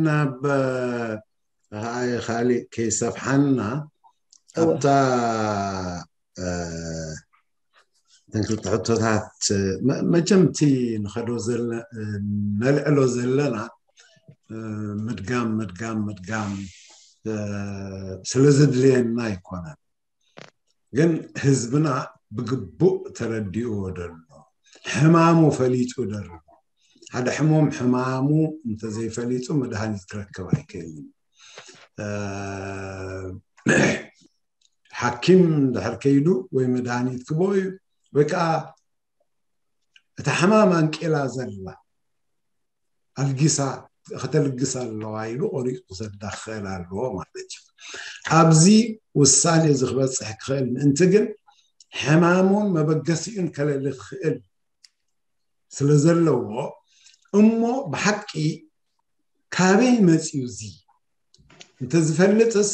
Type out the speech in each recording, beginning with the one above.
ናብ ካልእ ከይሰፍሓና ኣብታ ተን ክልተ ሕቶታት መቸምቲ ንኸዶ ነልዕሎ ዘለና ምድጋም ምድጋም ምድጋም ስለ ዘድልየና ኣይኮነን። ግን ህዝብና ብግቡእ ተረዲእዎ ደሎ ሕማሙ ፈሊጡ ደሎ ሓደ ሕሞም ሕማሙ እንተዘይፈሊጡ መድሃኒት ክረክብ ኣይክእልን። ሓኪም ድሕር ከይዱ ወይ መድሃኒት ክቦ እዩ ወይ ከዓ እታ ሕማም ኣንቄላ ዘላ ኣልጊሳ ከተልግስ ኣለዋ ኢሉ ቆሪፁ ክሰዳ ክኽእል ኣለዎ ማለት እዩ። ኣብዚ ውሳኔ እዚ ክበፅሕ ክኽእል ምእንቲ ግን ሕማሙን መበገሲኡን ከለሊ ክኽእል ስለ ዘለዎ እሞ ብሓቂ ካበይ መፅዩ እዚ እንተዝፈልጥስ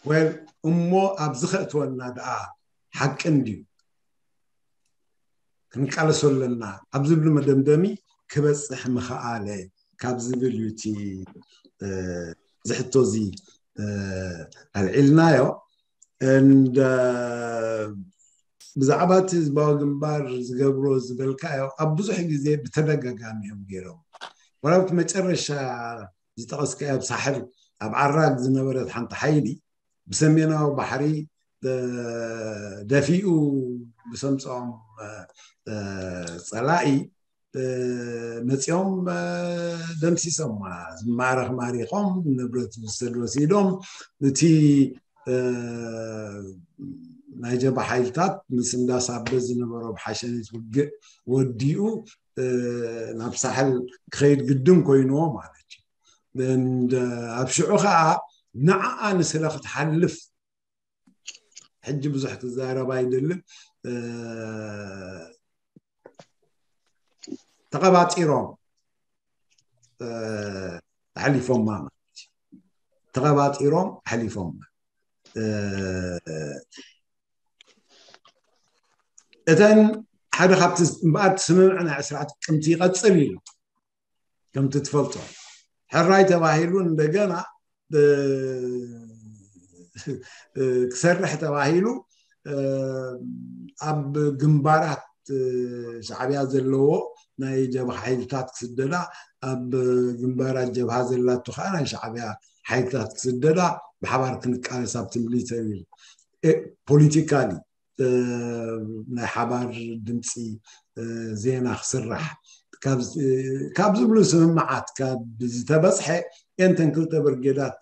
ወል እሞ ኣብዚ ከእትወና ደኣ ሓቂ እንድዩ ክንቃለሶ ኣለና ኣብ ዝብል መደምደሚ ክበፅሕ ምኽኣለ ካብ ዝብል እዩ እቲ ዝሕቶ እዚ ኣልዒልናዮ። እንደ ብዛዕባ እቲ ህዝባዊ ግንባር ዝገብሮ ዝበልካዮ ኣብ ብዙሕ ግዜ ብተደጋጋሚ እዮም ገይሮም። ወላ ኣብቲ መጨረሻ ዝጠቐስካዮ ኣብ ሳሕል ኣብ ዓራግ ዝነበረት ሓንቲ ሓይሊ ብሰሜናዊ ባሕሪ ደፊኡ ብሰምፅኦም ፀላኢ መፂኦም ደምሲሶም ዝማረኽ ማሪኾም ንብረት ዝወሰድ ወሲዶም እቲ ናይ ጀባ ሓይልታት ምስ እንዳሳበ ዝነበሮ ብሓሸኒት ውግእ ወዲኡ ናብ ሳሕል ክኸይድ ግድን ኮይንዎ ማለት እዩ። ኣብ ሽዑ ከዓ ንዓኣ ንስለ ክትሓልፍ ሕጂ ብዙሕ ክዛረብ ኣይደልን። ተቐባጢሮም ኣሕሊፎማ ማለት እዩ። ተቐባጢሮም ኣሕሊፎማ። እተን ሓደ ካብቲ እምበኣር ስምምዕ ናይ ዕስራ ጥቅምቲ ይቐፅል ኢሉ ከምቲ ትፈልጦ ሕራይ ተባሂሉ እንደገና ክሰርሕ ተባሂሉ ኣብ ግንባራት ሻዕብያ ዘለዎ ናይ ጀብሃ ሓይልታት ክስደዳ ኣብ ግንባራት ጀብሃ ዘላቱ ከዓ ናይ ሻዕብያ ሓይልታት ክስደዳ ብሓባር ክንቃለስ ኣብቲ ሚሊተሪ ፖለቲካሊ ናይ ሓባር ድምፂ ዜና ክስራሕ ካብ ዝብሉ ስምምዓት ካብ ዝተበፅሐ እየንተን ክልተ ብርጌዳት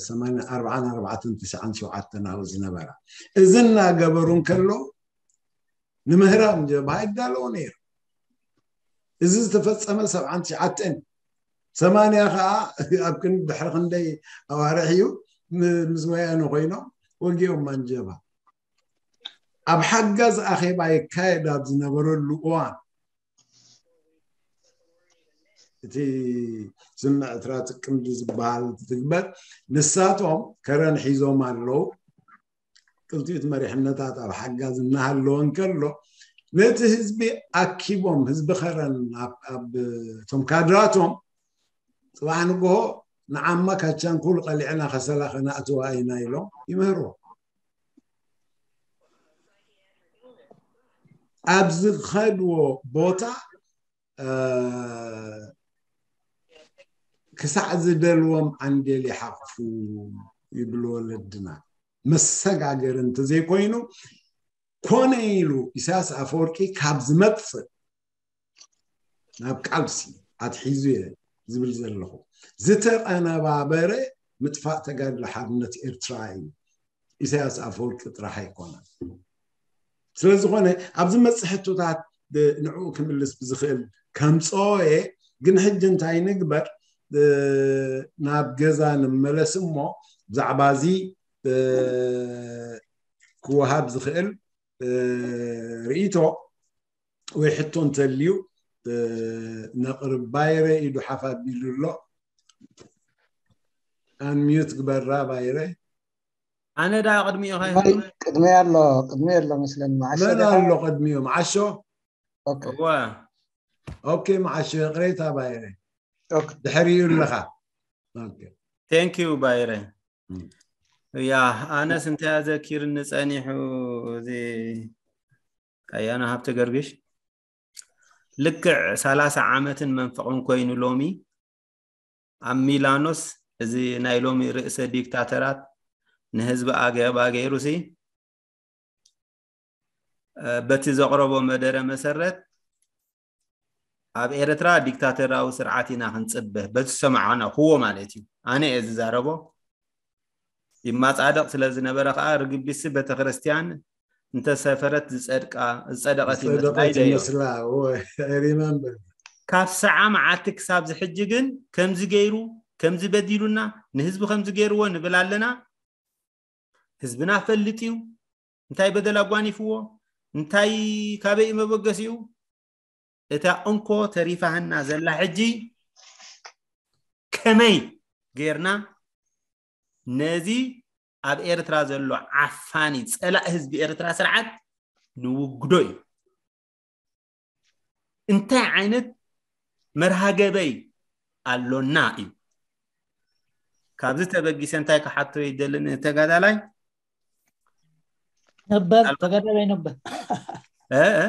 ሰማንያ ኣርባዓን ኣርባዕተን ትሽዓን ሸውዓተን ኣብኡ ዝነበራ እዚ እናገበሩ እንከሎ ንምህራም ጀብሃ ይዳለዎ ነይሩ። እዚ ዝተፈፀመ ሰብዓን ትሽዓተን ሰማንያ ከዓ ኣብ ክንዲ ድሕሪ ክንደይ ኣዋርሕ እዩ ምስ ወያነ ኮይኖም ወጊኦም ማንጀባ ኣብ ሓጋዝ ኣኼባ ይካየድ ኣብ ዝነበረሉ እዋን እቲ ስምዕ ትራ ጥቅምቲ ዝበሃል ትግበር ንሳቶም ከረን ሒዞም ኣለዉ። ክልቲኡ መሪሕነታት ኣብ ሓጋዝ እናሃለወ እንከሎ ነቲ ህዝቢ ኣኪቦም ህዝቢ ከረን ኣብ እቶም ካድራቶም ፅባሕ ንግሆ ንዓማ ካቻንኩል ቀሊዕና ከሰላ ከነእትዋ ኢና ኢሎም ይምህርዎ። ኣብ ዝኸድዎ ቦታ ክሳዕ ዝደልዎም ዓንዴል ይሓቕፉ ይብሉ ወለድና። መሰጋገሪ እንተዘይኮይኑ ኮነ ኢሉ ኢሳያስ ኣፈወርቂ ካብ ዝመፅእ ናብ ቃልሲ ኣትሒዙ እየ ዝብል ዘለኹ ዝተቐነባበረ ምጥፋእ ተጋድሎ ሓርነት ኤርትራ እዩ። ኢሳያስ ኣፈወርቂ ጥራሕ ኣይኮነን። ስለዝኾነ ኣብዚ መፅእ ሕቶታት ንዕኡ ክምልስ ብዝኽእል ከምፅኦ እየ። ግን ሕጂ እንታይ ንግበር? ናብ ገዛ ንመለስ እሞ ብዛዕባ እዚ ክወሃብ ዝኽእል ርእይቶ ወይ ሕቶ እንተልዩ ነቕርብ። ባይረ ኢዱ ሓፍ ኣቢሉ ኣሎ። ኣንሚዩት ግበራ ባይረ። ኣነ ዳ ቅድሚኡ ቅድሚ ኣሎ ቅድሚ ኣሎ መስለኒ። መዓሾ መን ኣሎ ቅድሚኡ? መዓሾ። ኦኬ ኦኬ፣ መዓሾ ይቕሬታ ባይረ። ድሕሪኡ ኣለኻ። Thank you ባይረ። ያ ኣነስ እንታይ ኣዘኪርኒ ጸኒሑ እዚ ኣያና ሃብተ ገርግሽ ልክዕ ሰላሳ ዓመትን መንፈቕን ኮይኑ ሎሚ ኣብ ሚላኖስ እዚ ናይ ሎሚ ርእሰ ዲክታተራት ንህዝቢ ኣገባ ገይሩሲ በቲ ዘቕረቦ መደረ መሰረት ኣብ ኤርትራ ዲክታተራዊ ስርዓት ኢና ክንጽበ በቲ ዝሰማዕናኹዎ ማለት እዩ። ኣነ እየ ዝዛረቦ። ይማጻደቕ ስለ ዝነበረ ከኣ ርግቢሲ ቤተክርስትያን እንተሰፈረት ዝጸድቃ ዝጸደቐት ይመስላ ኢለ እየ። ይመስላ እወ፣ I remember። ካብ ሰዓ መዓልቲ ክሳብ ዝሕጂ ግን ከምዚ ገይሩ ከምዚ በዲሉና ንህዝቢ ከምዚ ገይርዎ ንብል ኣለና። ህዝብና ፈልጥ እዩ እንታይ በደል ኣጓኒፍዎ እንታይ ካበይ እዩ መበገሲኡ። እታ እንኮ ተሪፋህና ዘላ ሕጂ ከመይ ጌርና ነዚ ኣብ ኤርትራ ዘሎ ዓፋኒ ጸላእ ህዝቢ ኤርትራ ስርዓት ንውግዶ እዩ። እንታይ ዓይነት መርሃ ገበይ ኣሎና እዩ። ካብዚ ተበጊሰ እንታይ ክሓቶ ይደሊ ንተጋዳላይ ነበር ተጋዳላይ ነበር እ፣ እ?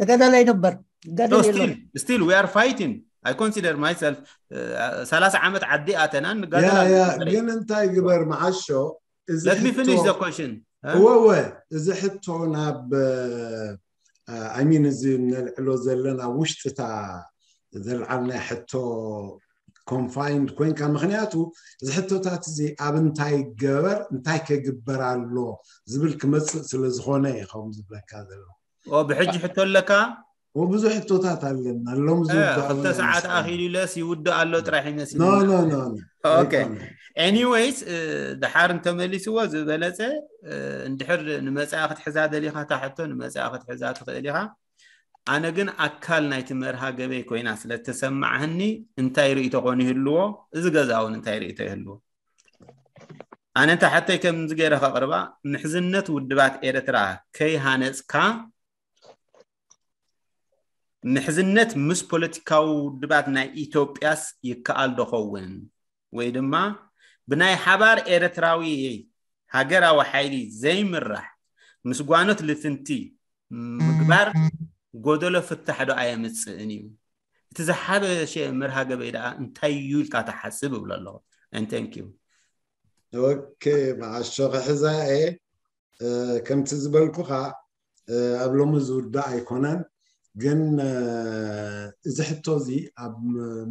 ተጋዳላይ ነበር So ገደል still, የለን still we are fighting. I consider myself uh, ሰላሳ ዓመት ዓዲ ኣተና ያ ንጋደል ያ ኣለና። ግን እንታይ ግበር መዓሾ እዚ Let me finish ሕቶ- the question. እ? እወ እወ እዚ ሕቶ ናብ I mean እዚ ነልዕሎ ዘለና ውሽጥታ ዘልዓልና ሕቶ confined ኮይንካ ምክንያቱ እዚ ሕቶታት እዚ ኣብ እንታይ ገበር እንታይ ከግበር ኣሎ ዝብል ክመፅእ ስለ ዝኾነ እዩ ከም ዝብለካ ዘሎ ኦ ብሕጂ ሕቶ ኣለካ? ብዙሕ ሕቶታት ኣለና ሎም እ፣ ክልተ ሰዓት ኣኺሉ ኢለስ ይውድእ ኣሎ ጥራሕ ይመስል no no no Okay. Anyways እ፣ ድሓር እንተመሊስዎ ዝበለፀ እ፣ እንድሕር ንመፅኣ ክትሕዛ ደሊኻ እታ ሕቶ ንመፅኣ ክትሕዛ ትኽእል ኢኻ። ኣነ ግን ኣካል ናይቲ መርሃ ገበይ ኮይና ስለ ተሰማዕህኒ እንታይ ርእይቶ ኮን ይህልዎ እዚ ገዛ እውን እንታይ ርእይቶ ይህልዎ። ኣነ እንተ ሓተይ ከምዚ ገይረ ከቕርባ ምሕዝነት ውድባት ኤርትራ ከይሃነፅካ ምሕዝነት ምስ ፖለቲካዊ ውድባት ናይ ኢትዮጵያስ ይከኣል ዶ ኸውን? ወይ ድማ ብናይ ሓባር ኤርትራዊ ሃገራዊ ሓይሊ ዘይምራሕ ምስ ጓኖት ልፍንቲ ምግባር ጎደሎ ፍታሕ ዶ ኣየምፅእን እዩ? እቲ ዝሓበሸ መርሃ ገበይ ደኣ እንታይ እዩ ኢልካ ትሓስብ እብሎ ኣለኹ። And thank you። ኦኬ መዓሾ ክሕዛ እየ ከምቲ ዝበልኩኻ ኣብ ሎሚ ዝውዳእ ኣይኮነን ግን እዚ ሕቶ እዚ ኣብ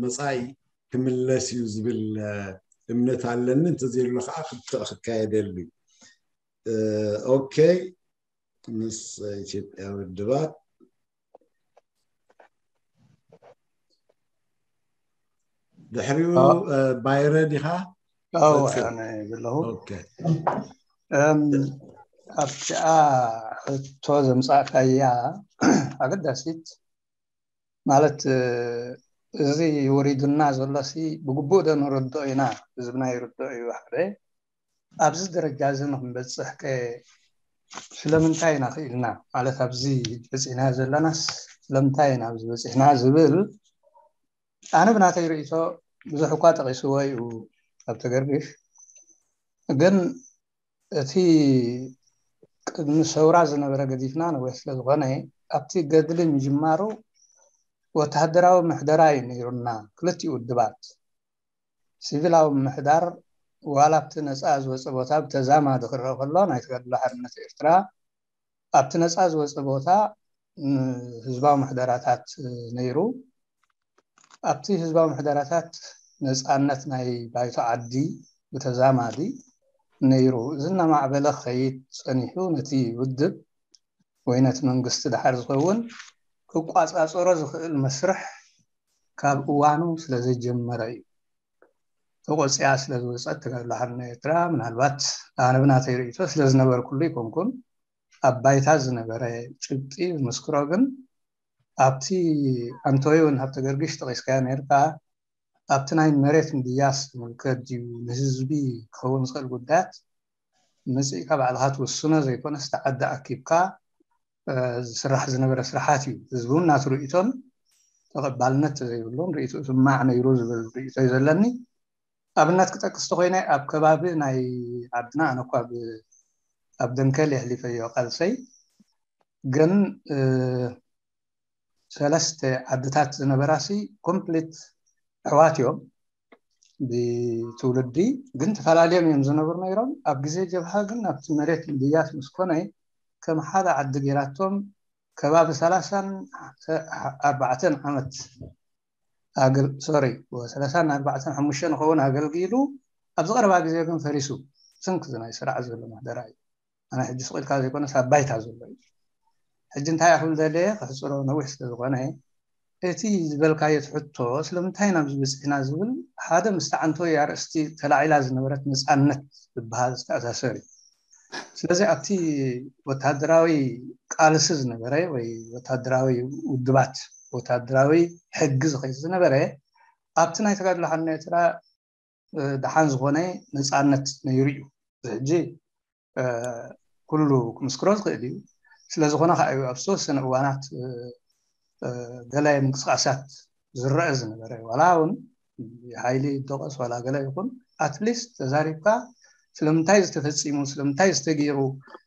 መፃኢ ክምለስ እዩ ዝብል እምነት ኣለኒ እንተዘየሎ ከዓ ክትዕ ክካየደሉ እዩ ኦኬ ምስ ኢትዮጵያ ውድባት ድሕሪኡ ባይረ ዲኻ ዘለኹ ኣብቲኣ ሕቶ ዘምፃእካያ ኣገዳሲት ማለት እዚ ወሪዱና ዘሎሲ ብግቡእ ዶ ንርድኦ ኢና ህዝብና ይርድኦ እዩ ሓደ ኣብዚ ደረጃ እዚ ንክንበፅሕ ከ ስለምንታይ ኢና ክኢልና ማለት ኣብዚ በፂሕና ዘለናስ ስለምንታይ ኢና ኣብዚ በፂሕና ዝብል ኣነ ብናተይ ርእይቶ ብዙሕ እኳ ጠቂስዎ እዩ ኣብ ተገርግሽ ግን እቲ ቅድሚ ሰውራ ዝነበረ ገዲፍና ነዊሕ ስለዝኾነ ኣብቲ ገድሊ ምጅማሩ ወተሃደራዊ ምሕደራ እዩ ነይሩና ክልቲኡ ውድባት ሲቪላዊ ምሕዳር ዋላ ኣብቲ ነፃ ዝወፀ ቦታ ብተዛማዲ ክረአ ከሎ ናይ ተጋድሎ ሓርነት ኤርትራ ኣብቲ ነፃ ዝወፀ ቦታ ህዝባዊ ምሕደራታት ነይሩ ኣብቲ ህዝባዊ ምሕደራታት ነፃነት ናይ ባይቶ ዓዲ ብተዛማዲ ነይሩ እዚ እናማዕበለ ክኸይድ ፀኒሑ ነቲ ውድብ ወይ ነቲ መንግስቲ ድሓር ዝኸውን ክቋፃፀሮ ዝኽእል መስርሕ ካብ እዋኑ ስለ ዘይጀመረ እዩ ተቆፅያ ስለ ዝወፀት ተጋድሎ ሓርነት ኤርትራ ምናልባት ኣነ ብናተይ ርእይቶ ስለ ዝነበርኩሉ ይኮንኩን ኣብ ባይታ ዝነበረ ጭብጢ ዝምስክሮ ግን ኣብቲ ኣንቶዮን ሃብተ ገርግሽ ጠቂስካዮ ነርካ ኣብቲ ናይ መሬት ምድያስ ዝምልከት ድዩ ንህዝቢ ክኸውን ዝኽእል ጉዳያት መፅእካ ባዕልካ ትውስኖ ዘይኮነስ ተዓዲ ኣኪብካ ዝስራሕ ዝነበረ ስራሓት እዩ ህዝቢ እውን ናቱ ርእይቶን ተቐባልነት ዘይብሉን ርእይትኡ ስማዕ ነይሩ ዝብል ርእይቶ እዩ ዘለኒ። ኣብነት ክጠቅስ ተኮይነ ኣብ ከባቢ ናይ ዓድና ኣነ እኳ ብ- ኣብ ደንከል የሕሊፈዮ ቃልሰይ ግን እ፣ ሰለስተ ዓድታት ዝነበራሲ ኮምፕሊት ኣሕዋት እዮም ብትውልዲ ግን ተፈላለዮም እዮም ዝነብሩ ነይሮም። ኣብ ግዜ ጀብሃ ግን ኣብቲ መሬት ምድያት ምስ ኮነ ከም ሓደ ዓዲ ገይራቶም ከባቢ ሰላሳን ኣርባዕተን ዓመት ኣገል ሶሪ ሰላሳን ኣርባዕተን ሓሙሽተ ንኸውን ኣገልጊሉ ኣብዚ ቀረባ ግዜ ግን ፈሪሱ ስንክ ናይ ስርዓት ዘሎ ማህደራ እዩ። ኣነ ሕጂ ስቕ ኢልካ ዘይኮነስ ኣብ ባይታ ዘሎ እዩ። ሕጂ እንታይ ኣኽል ደለየ ክሕፅሮ ነዊሕ ስለ ዝኾነ እቲ ዝበልካዮ ሕቶ ስለምንታይ ናብዚ በፂሕና ዝብል ሓደ ምስ ተዓንቶ ኣርእስቲ ተላዒላ ዝነበረት ነፃነት ዝበሃል ዝተኣሳሰር እዩ። ስለዚ ኣብቲ ወታደራዊ ቃልሲ ዝነበረ ወይ ወታደራዊ ውድባት ወታደራዊ ሕጊ ዝኸይድ ዝነበረ ኣብቲ ናይ ተጋድሎ ሓርነት ኤርትራ ደሓን ዝኾነ ነፃነት ነይሩ እዩ። እዚ ሕጂ ኩሉ ክምስክሮ ዝኽእል እዩ። ስለዝኾነ ከዓ እዩ ኣብ ዝተወሰነ እዋናት ገለ ምንቅስቃሳት ዝረአ ዝነበረ ዋላ እውን ሓይሊ ይደቀስ ዋላ ገለ ይኹን ኣትሊስት ተዛሪብካ ስለምንታይ ዝተፈፂሙ ስለምንታይ ዝተገይሩ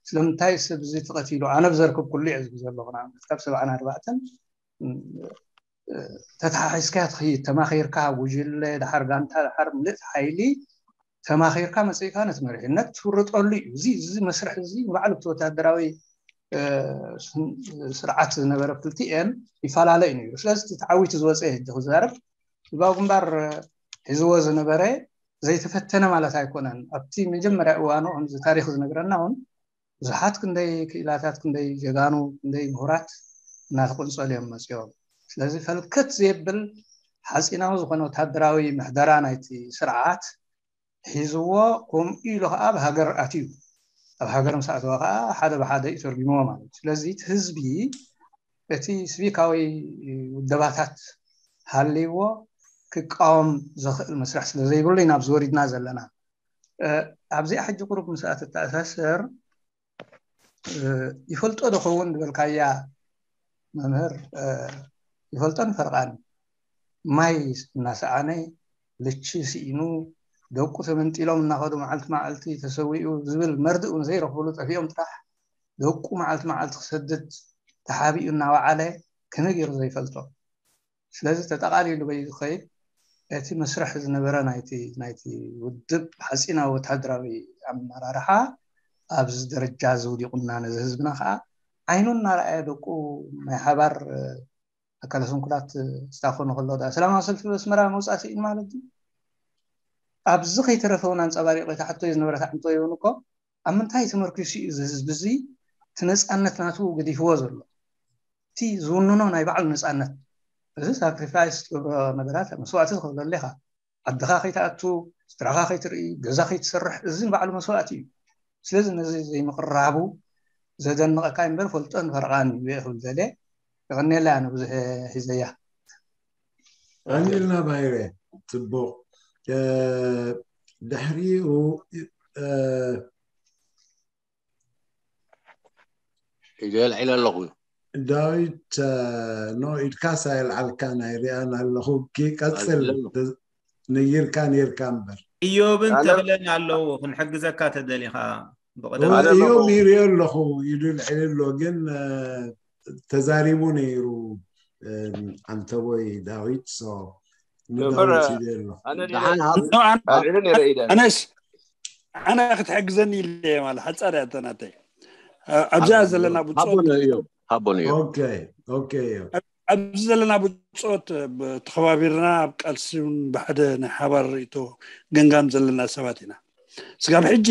ስለምንታይ ሰብ እዚ ተቐቲሉ ኣነ ብዘርክብ ኩሉ እየ ዝብል ዘለኹ ንኣብነት ካብ ሰብዓን ኣርባዕተን ተተሓሒዝካ ትኸይድ ተማኺርካ ጉጅለ ድሓር ጋንታ ድሓር ምልእቲ ሓይሊ ተማኺርካ መፅእካ ነቲ መሪሕነት ትውርጠሉ እዩ። እዚ እዚ መስርሕ እዚ ንባዕሉ እቲ ወታደራዊ ስርዓት ዝነበረ ክልቲኤን ይፈላለ እዩ ነይሩ። ስለዚ እቲ ተዓዊቱ ዝወፀ ሕጂ ክዛረብ ህዝባዊ ግንባር ሒዝዎ ዝነበረ ዘይተፈተነ ማለት ኣይኮነን። ኣብቲ መጀመርያ እዋኑ ከምዚ ታሪክ ዝነግረና እውን ብዙሓት ክንደይ ክኢላታት ክንደይ ጀጋኑ ክንደይ ምሁራት እናተቆንፀሉ እዮም መፅኦም። ስለዚ ፈልከት ዘየብል ሓፂናዊ ዝኾነ ወታደራዊ ምሕደራ ናይቲ ስርዓት ሒዝዎ ከምኡ ኢሉ ከዓ ኣብ ሃገር ኣትዩ ኣብ ሃገር ምስ ኣተወ ከዓ ሓደ ብሓደ እዩ ተርጉምዎ ማለት እዩ። ስለዚ እቲ ህዝቢ እቲ ስቪካዊ ውደባታት ሃልይዎ ክቃወም ዘኽእል መስርሕ ስለ ዘይብሉ ኢና ኣብዚ ወሪድና ዘለና። ኣብዚኣ ሕጂ ቁሩብ ምስኣ ትተኣሳሰር ይፈልጦ ዶ ኸውን ዝበልካያ መምህር ይፈልጦን ፈርቓን ማይ እናሰኣነ ልቺ ስኢኑ ደቁ ተመንጢሎም እናኸዱ መዓልቲ መዓልቲ ተሰዊኡ ዝብል መርድእ እውን ዘይረኽብሉ ጠፊኦም ጥራሕ ደቁ መዓልቲ መዓልቲ ክሰድድ ተሓቢኡ እናወዓለ ከመይ ገይሩ ዘይፈልጦ? ስለዚ ተጠቓሊሉ በይ ዝኸይድ እቲ መስርሕ ዝነበረ ናይቲ ናይቲ ውድብ ሓፂናዊ ወታደራዊ ኣመራርሓ ኣብዚ ደረጃ እዚ ውዲቑና ነዚ ህዝብና ከዓ ዓይኑ እናረኣየ ደቁ ናይ ሓባር ኣካለ ስንኩላት ስታኮኑ ከሎ ዳ ሰላማዊ ሰልፊ በስመራ መውፃእ ስኢን ማለት እዩ። ኣብዚ ከይተረፈ እውን ኣንፀባሪቆ ተሓቶ ዝነበረ ተዓንቶ ይውን እኮ ኣብ ምንታይ ተመርኪሱ እዩ እዚ ህዝቢ እዚ እቲ ነፃነት ናቱ ገዲፍዎ ዘሎ? እቲ ዝውንኖ ናይ ባዕሉ ነፃነት እዚ ሳክሪፋይስ ትገብሮ ነገራት መስዋእቲ ትኸፍለሉ ኢኻ። ዓድኻ ከይትኣቱ፣ ስድራኻ ከይትርኢ፣ ገዛ ከይትሰርሕ እዚ ንባዕሉ መስዋእቲ እዩ። ስለዚ ነዚ ዘይምቕራቡ ዘደንቐካ እምበር ፈልጦን ፈርቓን እዩ ክብል ደልየ። የቐንየላ ኣነ ብዙሕ ሒዘያ። ኣንልና ባይረ ጽቡቕ። ድሕሪኡ ኢለ ኣልዒለ ኣለኹ። ዳዊት ኖ ኢድካ ሳየልዓልካ ናይ ሪኣን ኣለኹ። ቀፅል። ነይርካ ነይርካ እምበር እዮብን ተኽለን ኣለዉ ክንሕግዘካ ተደሊኻ። እዮብ ይሪኦ ኣለኹ ኢሉ ልዕሊ ኣሎ ግን ተዛሪቡ ነይሩ። ኣንተቦይ ዳዊት ንዳዊት ይደሎ ኣነስ ኣነ ክትሕግዘኒ ኢለ ማለት ሓፃር ያተናተይ ኣብዚኣ ዘለና ብፆት ሃቦን እዩ ኦኬ ኦኬ እዩ ኣብዚ ዘለና ብፆት ተኸባቢርና ኣብ ቃልሲ እውን ብሓደ ናይ ሓባር ርእቶ ገንጋም ዘለና ሰባት ኢና። ስጋብ ሕጂ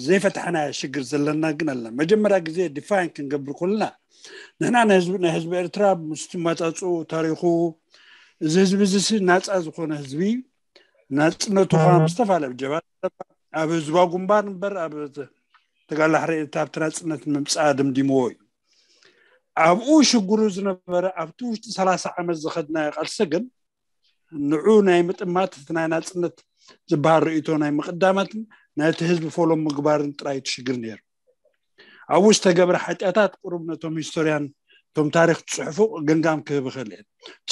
ዘይፈታሕና ሽግር ዘለና ግን ኣለና። መጀመርያ ግዜ ዲፋይን ክንገብር ከለና ንሕና ናይ ህዝቢ ኤርትራ ምስ ትመፃፅኡ ታሪኹ እዚ ህዝቢ እዚ ናፃ ዝኾነ ህዝቢ ናፅነቱ ከዓ ምስ ተፋለ ጀባ ኣብ ህዝባዊ ግንባር እምበር ኣብ ተጋላሕሪ ኣብቲ ናፅነት ምምፃእ ድምዲምዎ እዩ። ኣብኡ ሽግሩ ዝነበረ ኣብቲ ውሽጢ ሰላሳ ዓመት ዝኸድናዮ ቃልሲ ግን ንዑ ናይ ምጥማት እቲ ናይ ናፅነት ዝበሃል ርእቶ ናይ ምቕዳማትን ናይቲ ህዝቢ ፎሎም ምግባርን ጥራይ እቲ ሽግር ነይሩ። ኣብኡ ዝተገብረ ሓጢኣታት ቁሩብ ነቶም ሂስቶርያን እቶም ታሪክ ትፅሕፉ ግምጋም ክህብ ይኽእል እየ።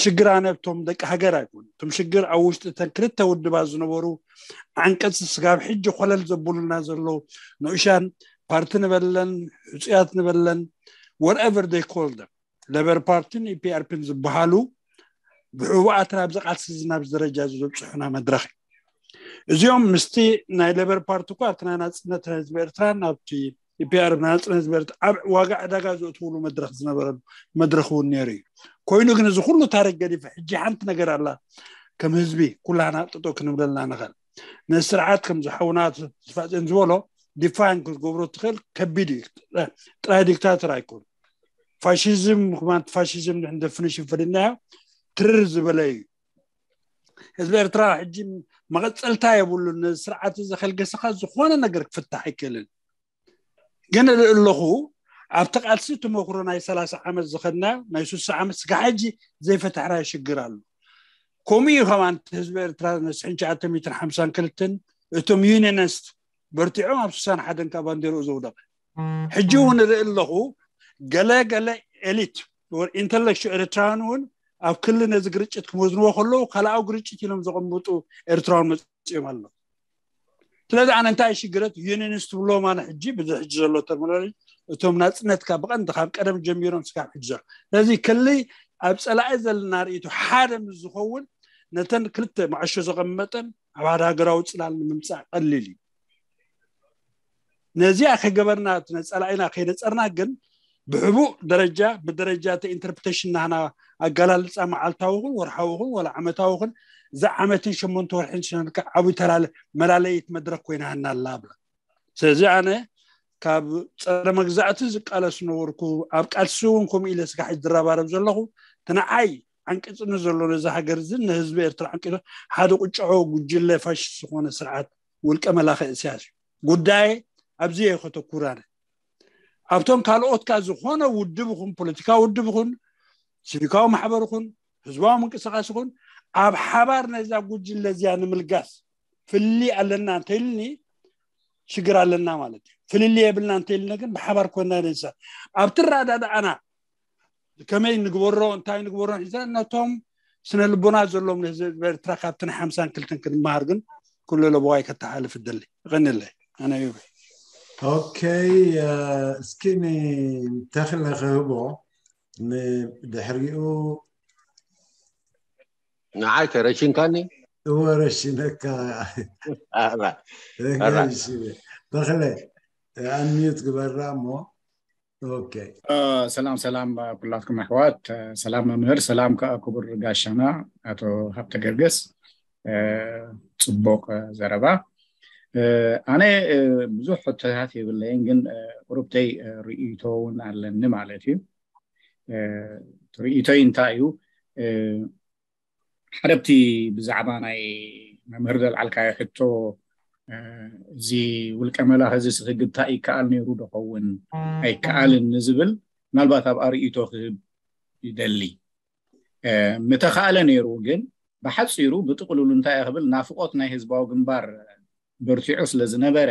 ሽግር ኣነ እቶም ደቂ ሃገር ኣይኮን። እቶም ሽግር ኣብ ውሽጢ እተን ክልተ ውድባት ዝነበሩ ዓንቀፅ ስጋብ ሕጂ ኮለል ዘብሉና ዘለዉ ንኡሻን ፓርቲ ንበለን፣ ሕፁያት ንበለን፣ whatever they call them፣ ሌበር ፓርቲን ኢፒኣርፒን ዝበሃሉ ብሕቡኣት ናብዚ ቃልሲ እዚ ናብዚ ደረጃ እዚ ዘብፅሑና መድረኽ እዩ። እዚኦም ምስቲ ናይ ሌበር ፓርቲ እኳ ኣብቲ ናይ ናፅነት ህዝቢ ኤርትራ ናብቲ ኢፒኣር ናፅነት ህዝቢ ኤርትራ ኣብ ዋጋ ዕዳጋ ዘእትውሉ መድረኽ ዝነበረሉ መድረኽ እውን ነይሩ እዩ። ኮይኑ ግን እዚ ኩሉ ታሪክ ገዲፈ ሕጂ ሓንቲ ነገር ኣላ ከም ህዝቢ ኩላና ጥጦ ክንብለላ ንኽእል። ነዚ ስርዓት ከም ዝሓውና ዝፋፅን ዝበሎ ዲፋይን ክትገብሮ ትኽእል ከቢድ እዩ። ጥራይ ዲክታተር ኣይኮን። ፋሽዝም ክማን ፋሽዝም ንሕን ደፍኒሽን ፈሊናዮ ትርር ዝበለ እዩ። ህዝቢ ኤርትራ ሕጂ መቐፀልታ የብሉን። ነዚ ስርዓት እዚ ከልገሰኻ ዝኾነ ነገር ክፍታሕ ኣይክእልን። ግን እርኢ ኣለኹ ኣብቲ ቃልሲ ተመክሮ ናይ ሰላሳ ዓመት ዝኸድናዮ ናይ ስሳ ዓመት ስጋ ሕጂ ዘይፈታሕናዮ ሽግር ኣሎ። ከምኡ እዩ ከማን ህዝቢ ኤርትራ ነስሕን ትሽዓተ ሚእትን ሓምሳን ክልተን እቶም ዩኒየንስት በርቲዖም ኣብ ስሳን ሓደን ካብ ባንዴርኡ ዘውደቐ። ሕጂ እውን እርኢ ኣለኹ ገለ ገለ ኤሊት ኢንተሌክቹ ኤርትራውያን እውን ኣብ ክሊ ነዚ ግርጭት ክመዝንዎ ከለዉ ካልኣዊ ግርጭት ኢሎም ዘቐምጡ ኤርትራውያን መፅኦም ኣለዉ። ስለዚ ኣነ እንታይ ሽግረት ዩኒንስ ትብሎ ማለት ሕጂ ብዚ ሕጂ ዘሎ ተርሚኖሎጂ እቶም ናፅነትካ ብቐንዲ ካብ ቀደም ጀሚሮም ስካብ ሕጂ ዘሎ ስለዚ ክሊ ኣብ ፀላኢ ዘለና ርእይቶ ሓደ ምስ ዝኸውን ነተን ክልተ መዓሾ ዘቐመጠን ኣብ ሓደ ሃገራዊ ፅላል ንምምፃእ ቀሊል እዩ። ነዚኣ ከይገበርና ነፀላኢና ከይነፀርና ግን ብሕቡእ ደረጃ ብደረጃ እቲ ኢንተርፕሬቴሽን ናህና ኣገላልፃ መዓልታዊ ኹን ወርሓዊ ኹን ወላ ዓመታዊ ኹን እዚ ዓመትን ሸሞንተ ወርሕን ስነልካ ዓብይ ተላለ መላለይት መድረክ ኮይና ሃና ኣላ ኣብላ። ስለዚ ኣነ ካብ ፀረ መግዛእቲ ዝቃለስ ነበርኩ ኣብ ቃልሲ እውን ከምኡ ኢለ ስጋሕ ዝራባረብ ዘለኹ ትንዓይ ዓንቂፅኒ ዘሎ ነዚ ሃገር እዚ ንህዝቢ ኤርትራ ዓንቂቶ ሓደ ቁጭዖ ጉጅለ ፋሽስት ዝኾነ ስርዓት ውልቀ መላኸ እስያስ እዩ። ጉዳየ ኣብዚ እየ ከተኩር ኣነ። ኣብቶም ካልኦት ከኣ ዝኾነ ውድብ ይኹን ፖለቲካዊ ውድብ ይኹን ሲቪካዊ ማሕበር ይኹን ህዝባዊ ምንቅስቃስ ይኹን ኣብ ሓባር ነዛ ጉጅለ እዚኣ ንምልጋስ ፍልልይ ኣለና እንተኢልኒ ሽግር ኣለና ማለት እዩ። ፍልልይ የብልና እንተኢልና ግን ብሓባር ኮይና ነንሳ ኣብቲ ኣረዳድኣና ከመይ ንግበሮ እንታይ ንግበሮ ሒዘ ነቶም ስነ ልቦና ዘለዎም ንህዝቢ ኤርትራ ካብቲ ናይ ሓምሳን ክልተን ክንመሃር ግን ኩሉ ለበዋይ ከተሓልፍ እደሊ። ይቐንለይ ኣነ ዩበይ ኦኬ እስኪ ንተኽለ ክህቦ ንድሕሪኡ ንዓይ ከረሽንካኒ እወ ረሽነካ ተኽለ ኣንሚዩት ግበራ እሞ ኦኬ ሰላም ሰላም ኩላትኩም ኣሕዋት ሰላም መምህር ሰላም ከዓ ክቡር ጋሻና ኣቶ ሃብተ ገርገስ ፅቡቅ ዘረባ ኣነ ብዙሕ ሕቶታት የብለይን ግን ቁሩብተይ ርእይቶ እውን ኣለኒ ማለት እዩ ርእይቶይ እንታይ እዩ ሓደ ብቲ ብዛዕባ ናይ መምህር ዘልዓልካዮ ሕቶ እዚ ውልቀ መላኺ እዚ ክግታእ ይከኣል ነይሩ ዶ ኸውን ኣይከኣልን ንዝብል ምናልባት ኣብ ኣርእይቶ ክህብ ይደሊ ምተኻእለ ነይሩ ግን ብሓፂሩ ብጥቕልሉ እንታይ ክብል ናፍቆት ናይ ህዝባዊ ግንባር በርቲዑ ስለ ዝነበረ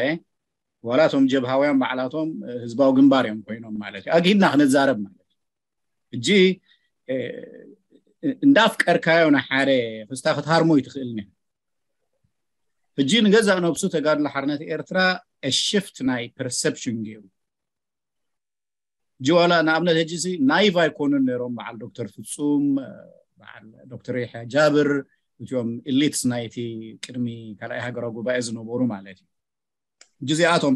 ዋላ እቶም ጀብሃውያን ባዕላቶም ህዝባዊ ግንባር እዮም ኮይኖም ማለት እዩ ኣግሂድና ክንዛረብ ማለት እዩ ሕጂ እንዳፍቀርካዮ ንሓደ ክስታ ክትሃርሞ ይትኽእል ኒ ሕጂ ንገዛእ ነብሱ ተጋድሎ ሓርነት ኤርትራ ሽፍት ናይ ፐርሰፕሽን ገይሩ ጅዋላ ንኣብነት ሕጂ ናይቭ ኣይኮኑን ነይሮም በዓል ዶክተር ፍፁም በዓል ዶክተር ይሕያ ጃብር እቲኦም ኢሊትስ ናይቲ ቅድሚ ካልኣይ ሃገራዊ ጉባኤ ዝነበሩ ማለት እዩ ጊዜኣቶም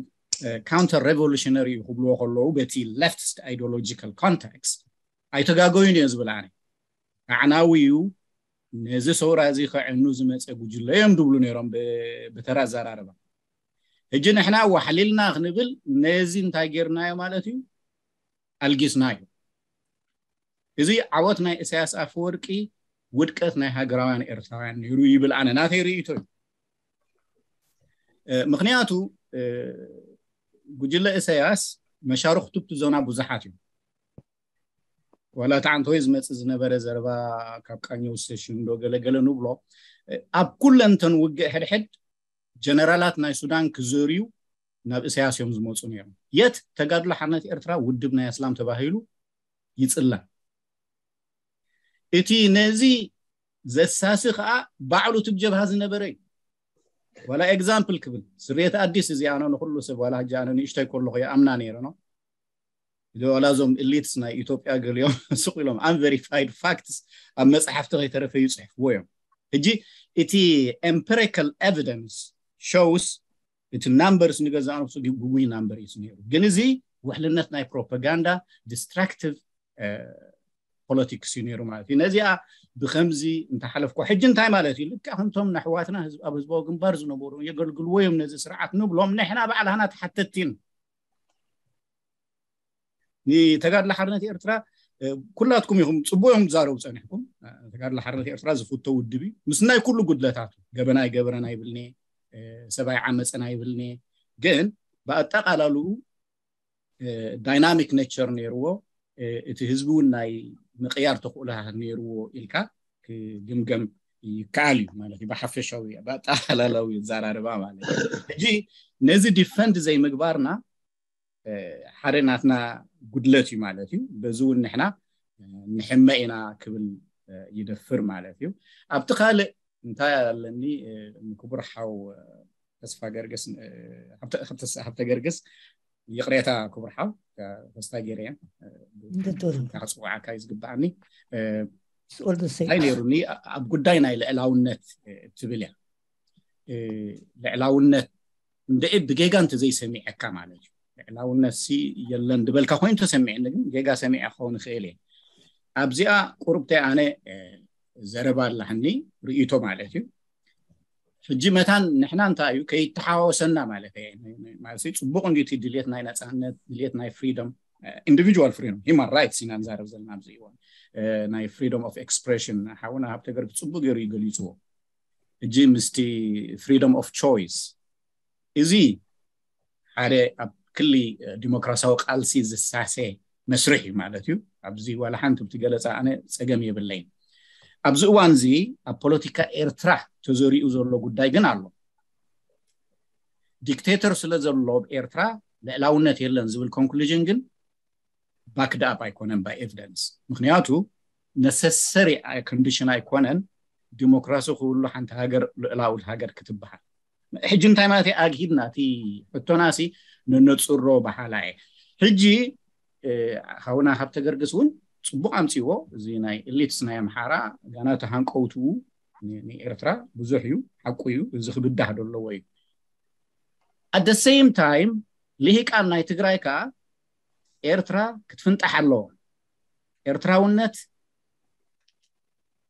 ካውንተር ሬቮሉሽነሪ እዩ ክብልዎ ከለዉ በቲ ሌፍትስት ኣይዲዮሎጂካል ኮንቴክስት ኣይተጋገዩን እዮ ዝብል ኣነ ኣዕናዊ እዩ ነዚ ሰውራ እዚ ከዕኑ ዝመፀ ጉጅለ እዮም ድብሉ ነይሮም ብተራ ኣዘራርባ ሕጂ ንሕና ዋሕሊልና ክንብል ነዚ እንታይ ጌርናዮ ማለት እዩ ኣልጊስናዮ እዚ ዓወት ናይ እሳያስ ኣፈወርቂ ውድቀት ናይ ሃገራውያን ኤርትራውያን ነይሩ ይብል ኣነ ናተይ ርእይቶ እዩ ምክንያቱ ጉጅለ እሰያስ መሻርክቱ እቲ ዞና ብዙሓት እዮም ዋላ እቲ ዓንተወይ ዝመፅእ ዝነበረ ዘረባ ካብ ቃኘው ስቴሽን ዶ ገለገለ ንብሎ ኣብ ኩለንተን ውግእ ሕድሕድ ጀነራላት ናይ ሱዳን ክዘርዩ ናብ እሰያስ እዮም ዝመፁ ነይሮም የት ተጋድሎ ሓርነት ኤርትራ ውድብ ናይ ኣስላም ተባሂሉ ይፅላም እቲ ነዚ ዘሳሲ ከዓ ባዕሉ እቲ ጀብሃ ዝነበረ እዩ። ዋላ ኤግዛምፕል ክብል፣ ስርየት ኣዲስ እዚ ኣነ ንኩሉ ሰብ፣ ዋላ ሕጂ ኣነ ንእሽተይ ከለኹ ይኣምና ነይረ ነው። ዋላ እዞም ኢሊትስ ናይ ኢትዮጵያ ገሊኦም ስቕ ኢሎም፣ unverified facts ኣብ መፅሓፍቲ ከይተረፈ ይፅሕፍዎ እዮም። ሕጂ እቲ empirical evidence shows፣ እቲ ናምበርስ ንገዛእ ነብሱ ግጉይ ናምበር እዩ ነይሩ። ግን እዚ ውሕልነት ናይ ፕሮፓጋንዳ፣ ዲስትራክቲቭ ፖለቲክስ እዩ ነይሩ ማለት እዩ። ነዚኣ ብከምዚ እንተሓለፍኩ፣ ሕጂ እንታይ ማለት እዩ? ልክዕ ከምቶም ነሕዋትና ህዝብ-፣ ኣብ ህዝባዊ ግንባር ዝነበሩ የገልግልዎ እዮም ነዚ ስርዓት ንብሎም፣ ንሕና ባዕላና ተሓተትቲ ኢና። ንተጋድሎ ሓርነት ኤርትራ፣ እ፣ ኩላትኩም ኢኹም፣ ጽቡቅ እዮም ዝዛረቡ ጸኒሕኩም። እ፣ ተጋድሎ ሓርነት ኤርትራ ዝፍቶ ውድብ እዩ፣ ምስ ናይ ኩሉ ጉድለታቱ። ገበና ኣይገበረን ኣይብልኔ፣ እ፣ ሰብ ኣይዓመጸን ኣይብልኔ። ግን ብኣጠቃላልኡ፣ እ፣ ዳይናሚክ ኔቸር ነይርዎ። እ፣ እቲ ህዝቢ እውን ናይ ምቅያር ተኽእሎ ነይርዎ ኢልካ ክግምገም ይከኣል እዩ ማለት እዩ። ብሓፈሻዊ፣ ብኣጠቃላላዊ ኣዘራርባ ማለት እዩ። ሕጂ ነዚ ዲፈንድ ዘይምግባርና፣ እ፣ ሓደ ናትና ጉድለት እዩ ማለት እዩ። በዚ እውን ንሕና፣ እ፣ ንሕመ ኢና ክብል፣ እ፣ ይደፍር ማለት እዩ። ኣብቲ ካልእ እንታይ ኣለኒ፣ እ፣ ንክቡር ሓው፣ እ፣ ተስፋ ገርግስ፣ እ፣ ሃብተ-፣ ሃብተ-፣ ሃብተ ገርግስ፣ ይቕሬታ ክቡር ሓው፣ እ፣ ተስፋ ገይረ እየ፣ እ፣ እንድትብል። ክጽውዓካ እዩ ዝግብኣኒ። እ፣ It's all the same። እንታይ ነይሩኒ፣ ኣብ ጉዳይ ናይ ልዕላውነት፣ እ፣ ትብል እያ። እ፣ ልዕላውነት እንደ ብጌጋ እንተ ዘይሰሚዐካ ማለት እዩ። ልዕላውነት ሲ የለን ዝበልካ ኮይኑ ተሰሚዐኒ፣ ግን ጌጋ ሰሚዐ ክኸውን ይኽእል እየ። ኣብዚኣ ቁሩብተይ ኣነ፣ እ፣ ዘረባ ኣላህኒ ርእይቶ ማለት እዩ። ሕጂ መታን ንሕና እንታይ እዩ ከይተሓዋወሰና ማለት እየ። ማለት እዩ፣ ጽቡቕ እንድዩ እቲ ድልየት ናይ ነጻነት፣ ድልየት ናይ ፍሪደም፣ እ፣ ኢንዲቪጁዋል ፍሪደም፣ ሂማን ራይትስ ኢና ንዛረብ ዘለና ኣብዚ እዋን። እ፣ ናይ ፍሪደም ኦፍ ኤክስፕሬሽን ሓውና ሃብተ ገርግስ ጽቡቕ ገይሩ እዩ ገሊጽዎ። ሕጂ ምስቲ ፍሪደም ኦፍ ቾይስ፣ እዚ ሓደ ኣብ ክሊ፣ እ፣ ዲሞክራሲያዊ ቃልሲ ዝሳሰ መስርሕ እዩ ማለት እዩ። ኣብዚ ዋላ ሓንቲ ብቲ ገለጻ ኣነ ጸገም የብለይን። ኣብዚ እዋን እዚ ኣብ ፖለቲካ ኤርትራ ተዘሪኡ ዘሎ ጉዳይ ግን ኣሎ። ዲክቴተር ስለ ዘሎ ኣብ ኤርትራ ልዕላውነት የለን ዝብል ኮንክሉዥን ግን ባክድ ኣፕ ኣይኮነን ባይ ኤቪደንስ። ምክንያቱ ነሰሰሪ ኮንዲሽን ኣይኮነን ዲሞክራሲ ክህሉ ሓንቲ ሃገር ልዕላዊት ሃገር ክትበሃል። ሕጂ እንታይ ማለት እዩ? ኣግሂድና እቲ ሕቶናሲ ነነጽሮ በሃላ እየ። ሕጂ፣ እ፣ ሓውና ሃብተ ገርግስ እውን ጽቡቕ ኣምጺዎ። እዚ ናይ ኤሊትስ ናይ ኣምሓራ ጋና ተሃንቀውትኡ ን-፣ ንኤርትራ ብዙሕ እዩ፣ ሓቁ እዩ። እዚ ክብዳህ ዘለዎ እዩ። At the same time፣ ልሂቃን ናይ ትግራይ ከኣ ኤርትራ ክትፍንጣሕ ኣለዎ። ኤርትራውነት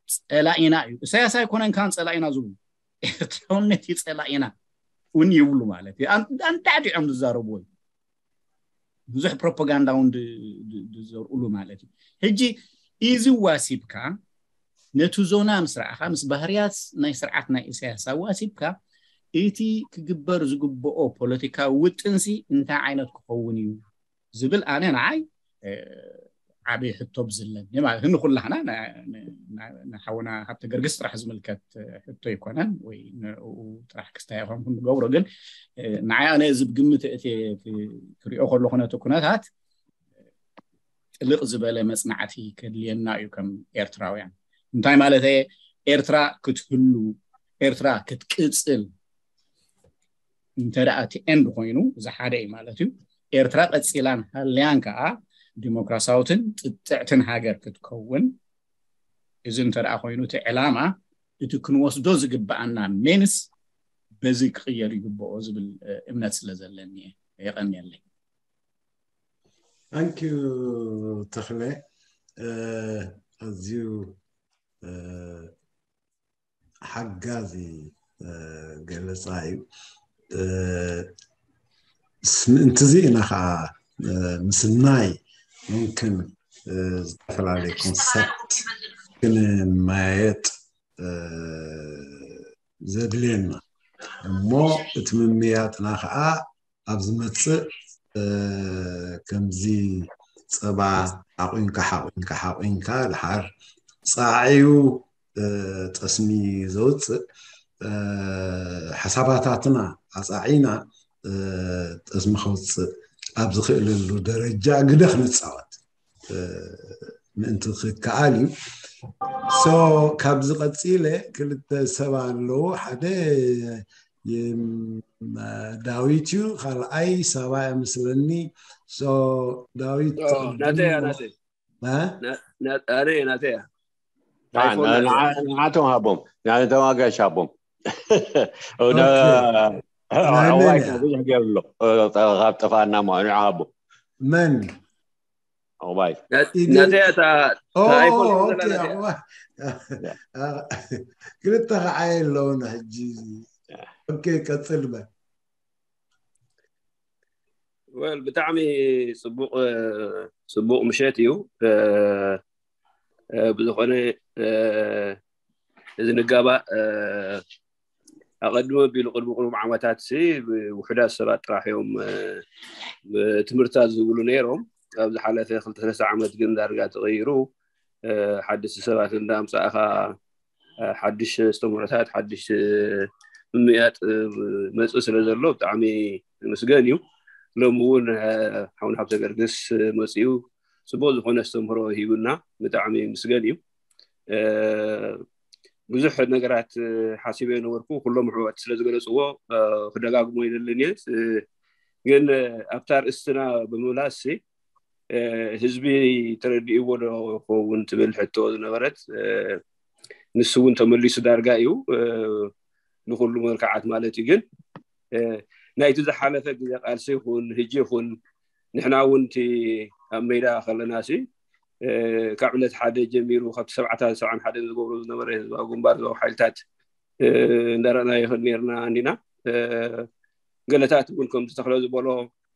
ጸላኢና እዩ። ኢሳያስ ኣይኮነን ካን ጸላኢና ዝብሉ። ኤርትራውነት እዩ ጸላኢና እውን ይብሉ ማለት እዩ። ኣን-፣ ኣንዳዕዲዖም ዝዛረብዎ እዩ። ብዙሕ ፕሮፓጋንዳ እውን ድ-፣ ድ-፣ ዝዘርኡሉ ማለት እዩ። ሕጂ እዚ ዋሲብካ ነቲ ዞና ምስ ረኣኻ፣ ምስ ባህርያት ናይ ስርዓት ናይ ኢሳያስ ኣዋሲብካ፣ እቲ ክግበር ዝግብኦ ፖለቲካዊ ውጥንሲ እንታይ ዓይነት ክኸውን እዩ ዝብል ኣነ ንዓይ፣ እ፣ ዓብዪ ሕቶ ብዝለኒ ማለት ንኩላህና ና-፣ ና-፣ ንሓውና ሃብተ ገርግስ ጥራሕ ዝምልከት ሕቶ ኣይኮነን ወይ ንኡ ጥራሕ ክስታይ ይኾን ክንገብሮ። ግን፣ እ፣ ንዓይ ኣነ እዚ ብግምት እቲ ክ-፣ ክሪኦ ከለኹ ነቲ ኩነታት ጥልቕ ዝበለ መጽናዕቲ ከድልየና እዩ ከም ኤርትራውያን። እንታይ ማለት እየ? ኤርትራ ክትህሉ፣ ኤርትራ ክትቅጽል እንተ ደኣ እቲ ኤንድ ኮይኑ፣ እዚ ሓደ እዩ ማለት እዩ። ኤርትራ ቀጺላን ሃልያን ከኣ ዲሞክራሲያዊትን ጥጥዕትን ሃገር ክትከውን፣ እዚ እንተ ደኣ ኮይኑ እቲ ዕላማ፣ እቲ ክንወስዶ ዝግብኣና ሜንስ በዚ ክቕየር ይግብኦ ዝብል፣ እ፣ እምነት ስለ ዘለኒ እየ። የቐንየለይ። ታንኪዩ ተኽለ፣ እ፣ ኣዝዩ፣ እ፣ ሓጋዚ፣ እ፣ ገለጻ እዩ። እ፣ ስ-፣ ምእንቲ እዚ ኢና ኸዓ፣ እ፣ ምስናይ ሙምክን፣ እ፣ ዝተፈላለየ ኮንሰፕት ክንመያየጥ፣ እ፣ ዘድልየና። እሞ እቲ ምምያጥና ኸዓ ኣብ ዝመጽእ፣ እ፣ ከምዚ ጸባ ሓቑንካ፣ ሓቑንካ፣ ሓቑንካ፣ ድሓር ጻዕዩ፣ እ፣ ጠስሚ ዘውጽእ፣ እ፣ ሓሳባታትና ኣጻዒና፣ እ፣ ጠስሚ ከውጽእ ኣብ ዝኽእለሉ ደረጃ ግደ ክንጻወት፣ እ፣ ምእንቲ ክከኣል እዩ። So ካብዚ ቀፂለ ክልተ ሰብ ኣለዉ። ሓደ ዳዊት እዩ፣ ካልኣይ ሳባ እያ መስለኒ። So ዳዊት ናተያ ናተያ ናተያ እያ። ንዓቶም ሃቦም፣ ንዓቶም ኣጋሽ ሃቦም። እዋይ ብዙሕ ገይሩ ኣሎ። ካብ ጠፋና ማ ንዓ ሃቦ መን እዋይ ናተያ እታ ኣይኮን ክልተ ከዓ የለውን ሕጂ። ኦኬ ቀፅል በል። ወል ብጣዕሚ ፅቡቅ ፅቡቅ ምሸት እዩ። ብዝኾነ እዚ ንጋባእ ኣቐድሞ ኣቢሉ ቅድሚ ቅሩብ ዓመታት ውሑዳት ሰባት ጥራሕ እዮም ትምህርትታት ዝብሉ ነይሮም። ኣብ ዝሓለፈ ክልተ ሰለስተ ዓመት ግን ዳርጋ ተቐይሩ ሓደሽቲ ሰባት እንዳምፃእኻ ሓድሽ ኣስተምህሮታት ሓድሽ ምምያጥ መፅእ ስለ ዘሎ ብጣዕሚ ምስገን እዩ። ሎም እውን ሓውን ሃብተ ገርግስ መፅኡ ፅቡቅ ዝኾነ ኣስተምህሮ ሂቡና ብጣዕሚ ምስገን እዩ። ብዙሕ ነገራት ሓሲበ ነበርኩ። ኩሎም ኣሕዋት ስለ ዝገለፅዎ ክደጋግሞ ይደልን እየ። ግን ኣብታ ኣርእስትና ብምምላስ ህዝቢ ተረዲእዎ ዶ ይኸውን ትብል ሕቶ ዝነበረት ንሱ እውን ተመሊሱ ዳርጋ እዩ። ንኩሉ መልክዓት ማለት እዩ። ግን ናይቲ ዝሓለፈ ግዜ ቃልሲ ይኹን ህጂ ይኹን ንሕና እውን እቲ ኣብ ሜዳ ከለና ሲ ካብ ዕለት ሓደ ጀሚሩ ካብቲ ሰብዓታት ሰብዓን ሓደ ዝገብሩ ዝነበረ ህዝባዊ ግንባር ህዝባዊ ሓይልታት እንዳረኣና ይኽእል ነርና እንዲና። ገለታት እውን ከምቲ ተኽለ ዝበሎ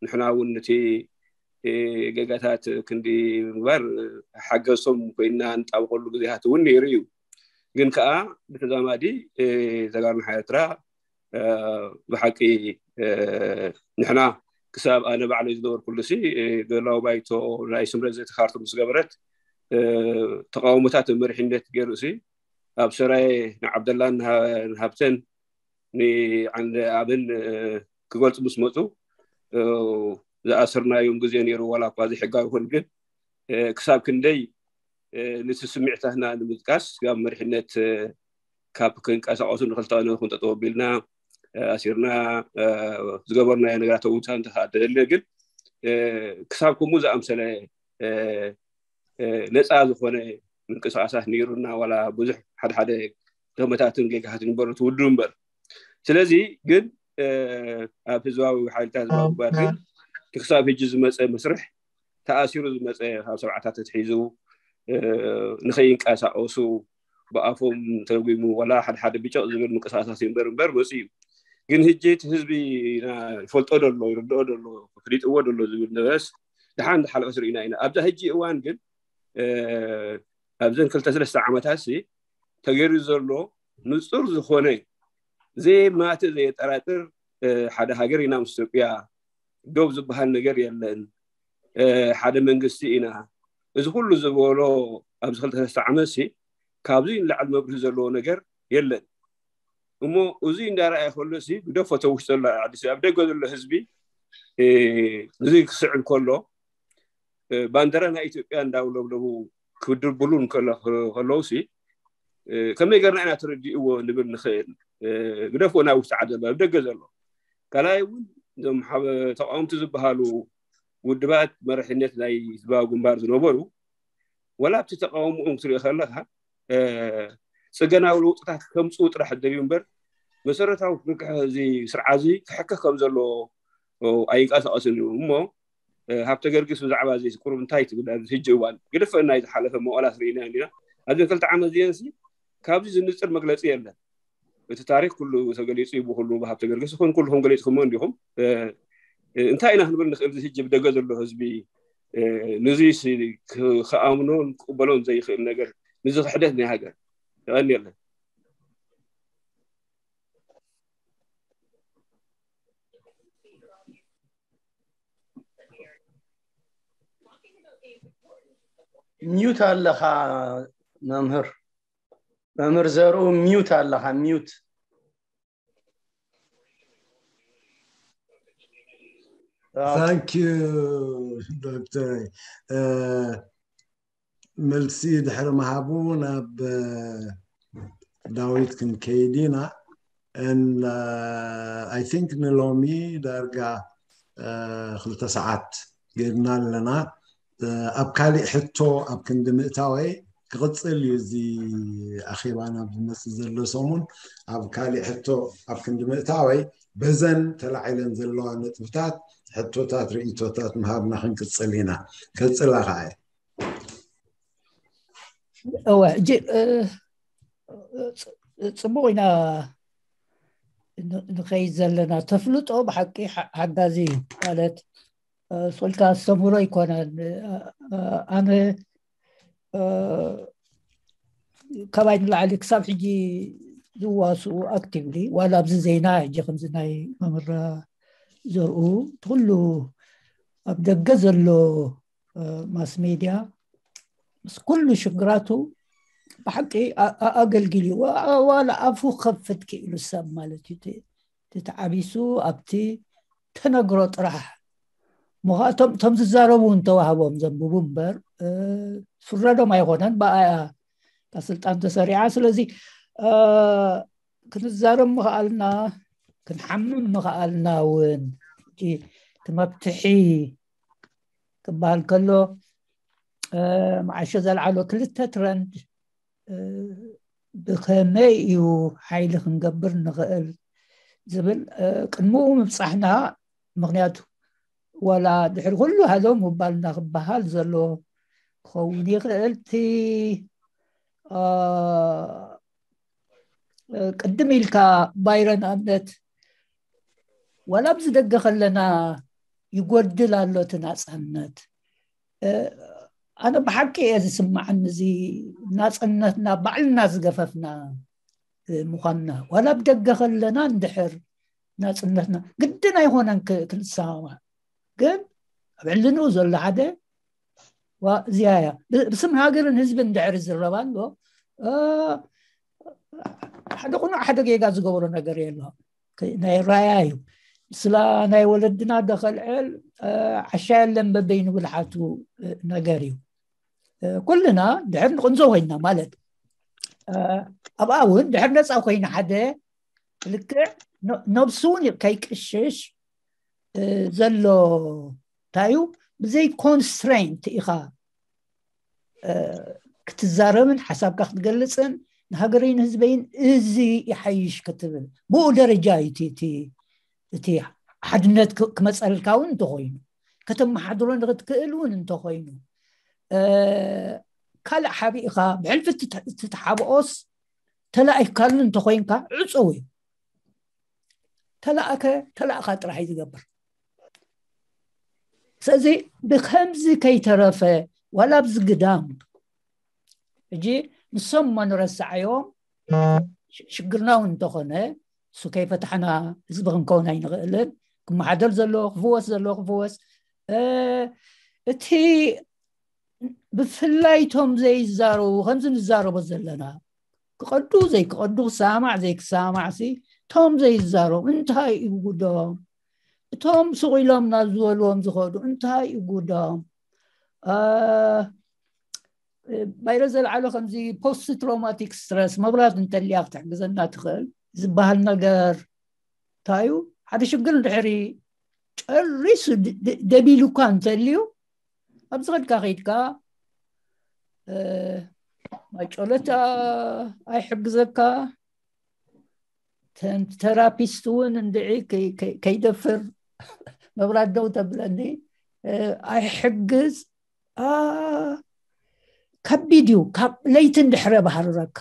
ንሕና እውን እቲ ገጋታት ክንዲ ምግባር ሓገዝቶም ኮይና ንጣብቀሉ ግዜታት እውን ነይሩ እዩ። ግን ከዓ ብተዛማዲ ተጋሩ ሓይሊ ኤርትራ ብሓቂ ንሕና ክሳብ ኣነ ባዕለይ ዝነበርኩሉ ሲ ገላዊ ባይቶ ናይ ስምረት ዘተካርቱ ምስ ገበረት ተቃውሞታት መሪሕነት ገይሩ ሲ ኣብ ሰራየ ንዓብደላን ንሃብተን ንዓንደ ኣብን ክገልፁ ምስ መፁ ዝኣሰርናዮም ግዜ ነይሩ። ዋላ እኳ ዘይሕጋዊ ይኹን ግን ክሳብ ክንደይ ነቲ ስምዒታትና ንምጥቃስ ካብ መሪሕነት ካብ ክንቀሳቀሱ ንክልተ ክንጠጠው ኣቢልና ኣሲርና ዝገበርናዮ ነገራት እውን እንተደለ ግን ክሳብ ከምኡ ዝኣምሰለ ነፃ ዝኾነ ምንቅስቃሳት ነይሩና ዋላ ብዙሕ ሓደ ሓደ ገመታትን ጌጋታትን ይበሩ ትውድሩ እምበር። ስለዚ ግን ኣብ ህዝባዊ ሓይልታት ህዝባዊ ግንባር ግን ክሳብ ሕጂ ዝመፀ መስርሕ ተኣሲሩ ዝመፀ ካብ ሰብዓታት ተትሒዙ ንኸይንቀሳቀሱ ብኣፎም ተረጒሙ ዋላ ሓደ ሓደ ብጨቕ ዝብል ምንቅስቃሳት ይንበር እምበር መፁ እዩ። ግን ሕጂ እቲ ህዝቢ ይፈልጦ ደሎ ይርድኦ ደሎ ፍሊጥዎ ደሎ ዝብል ነበረስ ድሓን ዝሓለፈ ስርኢና ኢና። ኣብዛ ሕጂ እዋን ግን ኣብዘን ክልተ ሰለስተ ዓመታት ሲ ተገይሩ ዘሎ ንፁር ዝኾነ ዘይማትእ ዘየጠራጥር ሓደ ሃገር ኢና ምስ ኢትዮጵያ ዶብ ዝበሃል ነገር የለን። ሓደ መንግስቲ ኢና። እዚ ኩሉ ዝበሎ ኣብዚ ክልተ ሰለስተ ዓመት ሲ ካብዚ ንላዕሊ መብርሂ ዘለዎ ነገር የለን። እሞ እዚ እንዳረኣየ ከሎ ሲ ግደፎ ተውሽ ዘሎ ዓዲ ኣብ ደገ ዘሎ ህዝቢ እዚ ክስዕል ከሎ ባንደራ ናይ ኢትዮጵያ እንዳውለብለቡ ክድርብሉ ከለዉ ሲ ከመይ ገርና ኢና ተረዲእዎ ንብል ንኽእል። ግደፎ ናይ ውሽጢ ዓዲ ዘሎ ኣብ ደገ ዘሎ ካልኣይ እውን እዞም ተቃወምቲ ዝበሃሉ ውድባት መራሒነት ናይ ህዝባዊ ግንባር ዝነበሩ ወላ ኣብቲ ተቃውሞኦም ክትሪኦ ከለካ ፅገናዊ ለውጥታት ከምፅኡ ጥራሕ ደልዩ እምበር መሰረታዊ ክንክሐ እዚ ስርዓ እዚ ክሕከ ከም ዘለዎ ኣይንቀሳቀስን እዩ እሞ ሃብተ ገርግስ ብዛዕባ እዚ ቁሩብ እንታይ ትብል ኣብዚ ሕጂ እዋን ግደፈ ናይ ዝሓለፈ መዋላት ርኢና እንዲና ኣብዚ ክልተ ዓመት እዚአን ሲ ካብዚ ዝንፅር መግለፂ የለን። እቲ ታሪክ ኩሉ ተገሊፁ እዩ ብኩሉ ብሃብተ ገርግስ ይኹን ኩልኩም ገሊፅኩሞ እንዲኹም እንታይ ኢና ክንብል ንኽእል እዚ ሕጂ ብደገ ዘሎ ህዝቢ ንዚ ክኣምኖን ክቅበሎን ዘይኽእል ነገር ንዚ ክሕደት ናይ ሃገር ይቐንየለን። ሚዩት ኣለኻ መምህር መምህር ዘርኡ ሚዩት ኣለኻ ሚዩት Thank you, Doctor. Uh, መልሲ ድሕሪ ምሃቡ ናብ ዳዊት ክንከይድ ኢና። I think ንሎሚ ዳርጋ ክልተ ሰዓት ጌርና ኣለና። ኣብ ካሊእ ሕቶ ኣብ ክንዲ ምእታወይ ክቕፅል እዩ። እዚ ኣኼባ ናብ ዝመፅእ ዘሎ ሰሙን ኣብ ካሊእ ሕቶ ኣብ ክንዲ ምእታወይ በዘን ተላዒለን ዘለዋ ነጥብታት ሕቶታት ርእይቶታት ምሃብና ክንቅፅል ኢና። ቀፅላ ከዓ እወ ሕጂ ጽቡቕ ኢና ንኸይድ ዘለና። ተፍልጦ ብሓቂ ሓጋዚ እዩ ማለት ሶልካ ኣስተምህሮ ኣይኮነን። ኣነ ካባይ ንላዕሊ ክሳብ ሕጂ ዝዋስኡ ኣክቲቭሊ ዋላ ኣብዚ ዜና ሕጂ ከምዚ ናይ መምህር ዘርኡ እቲ ኩሉ ኣብ ደገ ዘሎ ማስ ሜድያ ምስ ኩሉ ሽግራቱ ብሓቂ ኣገልግል እዩ። ዋላ ኣፉ ከፍት ክኢሉ ሰብ ማለት እዩ ተዓቢሱ ኣብቲ ተነግሮ ጥራሕ ምዃ እቶም ዝዛረቡ እንተዋህቦም ዘንብቡ እምበር ፍረዶም ኣይኮነን። ብኣያ ካብ ስልጣን ተሰሪዓ። ስለዚ ክንዛረብ ምኽኣልና ክንሓምም ምኽኣልና እውን እቲ መፍትሒ ክበሃል ከሎ መዓሾ ዘልዓሎ ክልተ ትረንድ ብኸመይ እዩ ሓይሊ ክንገብር ንኽእል ዝብል ቅድምኡ ምብፃሕና። ምክንያቱ ዋላ ድሕሪ ኩሉ ሃሎ ምባልና ክበሃል ዘሎ ክኸውን ይኽእል። እቲ ቅድም ኢልካ ባይረ ንኣብነት ዋላ ኣብዚ ደገ ከለና ይጎድል ኣሎ እቲ ናፃነት። ኣነ ብሓቂ እየ ዝስማዓኒ እዚ ናፅነትና ባዕልና ዝገፈፍና ምኳንና። ዋላ ኣብ ደገ ከለና እንድሕር ናፅነትና ግድን ኣይኮነን ክንሰማማዕ፣ ግን ኣብ ዕልንኡ ዘሎ ሓደ እዚያ እያ። ብስም ሃገርን ህዝብን እንድሕር ይዝረብ ኣሎ ሓደ ቁኑዕ ሓደ ጌጋ ዝገብሮ ነገር የሎ። ናይ ራያ እዩ። ስላ ናይ ወለድና ደኸልዕል ዓሻ የለን በበይኑ ብልሓቱ ነገር እዩ። ኩልና ድሕር ንቕንዞ ኮይና ማለት ኣብኣ እውን ድሕር ነፃ ኮይና ሓደ ልክዕ ነብሱ እውን ከይቅሽሽ ዘሎ እንታይ እዩ ብዘይ ኮንስትሬንት ኢኻ ክትዛረብን ሓሳብካ ክትገልፅን ንሃገረይን ህዝበይን እዚ ይሓይሽ ክትብል ብኡ ደረጃ እዩ እቲ ሓድነት ክመፀልካ እውን እንተኮይኑ ከተመሓድሮ ንክትክእል እውን እንተኮይኑ ካልእ ሓቢእካ ብሕልፊ ትተሓብኦስ ተላኢካሉ እንተኮይንካ ዕፁው እዩ። ተላእከ ተላእካ ጥራሕ እዩ ዝገብር። ስለዚ ብከምዚ ከይተረፈ ዋላ ኣብዚ ግዳም ሕጂ ንሶም እሞ ንረስዓዮም ሽግርና እውን እንተኾነ እሱ ከይፈታሕና ህዝቢ ክንከውን ኣይንኽእልን። ክመሓደር ዘሎ ክፍወስ ዘሎ ክፍወስ እቲ ብፍላይ ቶም ዘይዛረቡ ከምዚ ንዛረቦ ዘለና ክቐዱ ዘይክቐዱ ክሰማዕ ዘይክሰማዕ ሲ ቶም ዘይዛረቡ እንታይ እዩ ጉዶም? እቶም ስቕ ኢሎም ናብ ዝበልዎም ዝኸዱ እንታይ እዩ ጉዶም? ባይረ ዘልዓሎ ከምዚ ፖስት ትሮማቲክ ስትረስ መብራት እንተልያ ክትሕግዘና ትኽእል ዝበሃል ነገር እንታይ እዩ? ሓደ ሽግር እንድሕሪ ጨሪሱ ደቢሉ እኳ እንተልዩ ኣብዚ ከድካ ከይድካ ማይ ጨሎት ኣይሕግዘካ። ተራፒስት እውን እንድዒ ከይደፍር መብራት ደው ተብለኒ ኣይሕግዝ። ከቢድ እዩ። ካብ ለይቲ እንድሕረ ባህርረካ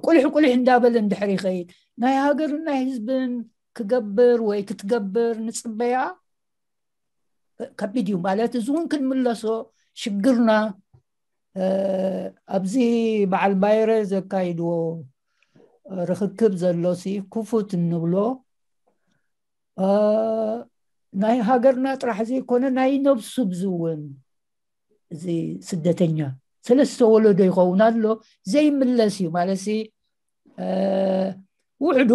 ቁልሕ ቁልሕ እንዳበለ እንድሕር ይኸይድ ናይ ሃገርን ናይ ህዝብን ክገብር ወይ ክትገብር ንፅበያ ከቢድ እዩ ማለት እዚ እውን ክንምለሶ ሽግርና ኣብዚ በዓል ባይረ ዘካይድዎ ርክክብ ዘሎሲ ክፉት እንብሎ ናይ ሃገርና ጥራሕ ዘይኮነ ናይ ነብሱ ብዝውን እዚ ስደተኛ ሰለስተ ወለዶ ይኸውን ኣሎ ዘይምለስ እዩ ማለት ውሕዱ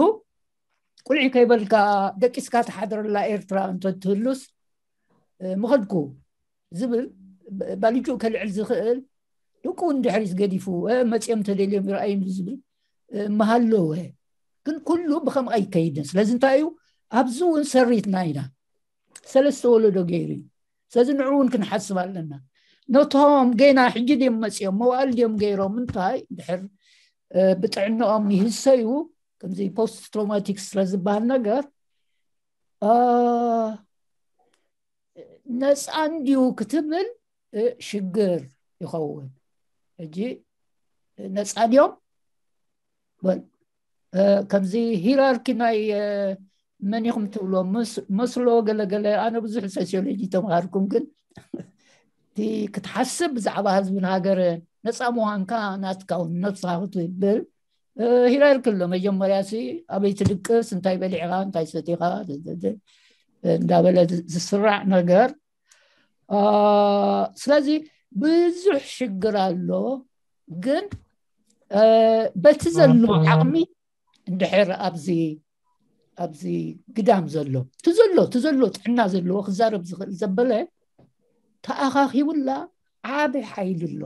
ቁልዒ ከይበልካ ደቂስካ ተሓድረላ ኤርትራ እንተትህሉስ ምኸድኩ ዝብል ባልጅኡ ከልዕል ዝኽእል፣ ደቁ እውን ድሕሪት ገዲፉ መፅኦም ተደልዮም ይረኣዩ ዝብል መሃለወ። ግን ኩሉ ብከምኡ ኣይከይድን። ስለዚ እንታይ እዩ፣ ኣብዚ እውን ሰሪትና ኢና። ሰለስተ ወለዶ ገይሩ እዩ። ስለዚ ንዑ እውን ክንሓስብ ኣለና። ነቶም ገና ሕጂ ድዮም መፅኦም፣ መዋእል ድዮም ገይሮም፣ እንታይ ድሕር ብጥዕናኦም ይህሰዩ፣ ከምዚ ፖስት ትሮማቲክ ስትረስ ዝበሃል ነገር ነፃ እንድዩ ክትብል ሽግር ይኸውን። ሕጂ ነፃ ድዮም? ከምዚ ሂራርኪ ናይ መን ኢኹም ትብሎ፣ መስሎ ገለገለ። ኣነ ብዙሕ ሶሲዮሎጂ ተምሃርኩም፣ ግን እቲ ክትሓስብ ብዛዕባ ህዝብን ሃገርን ነፃ ምዃንካ ናትካ እውን ነብስኻ ክትብል ሂራርኪ ኣሎ። መጀመርያ ሲ ኣበይ ትድቅስ፣ እንታይ በሊዕኻ፣ እንታይ ሰቲኻ እንዳበለ ዝስራዕ ነገር። ስለዚ ብዙሕ ሽግር ኣሎ። ግን በቲ ዘሎ ዓቕሚ እንድሕር ኣብዚ ኣብዚ ግዳም ዘሎ፣ እቲ ዘሎ እቲ ዘሎ ጥዕና ዘለዎ ክዛረብ ዝኽእል ዘበለ ተኣኻኺቡላ ዓቢ ሓይሊ ኣሎ።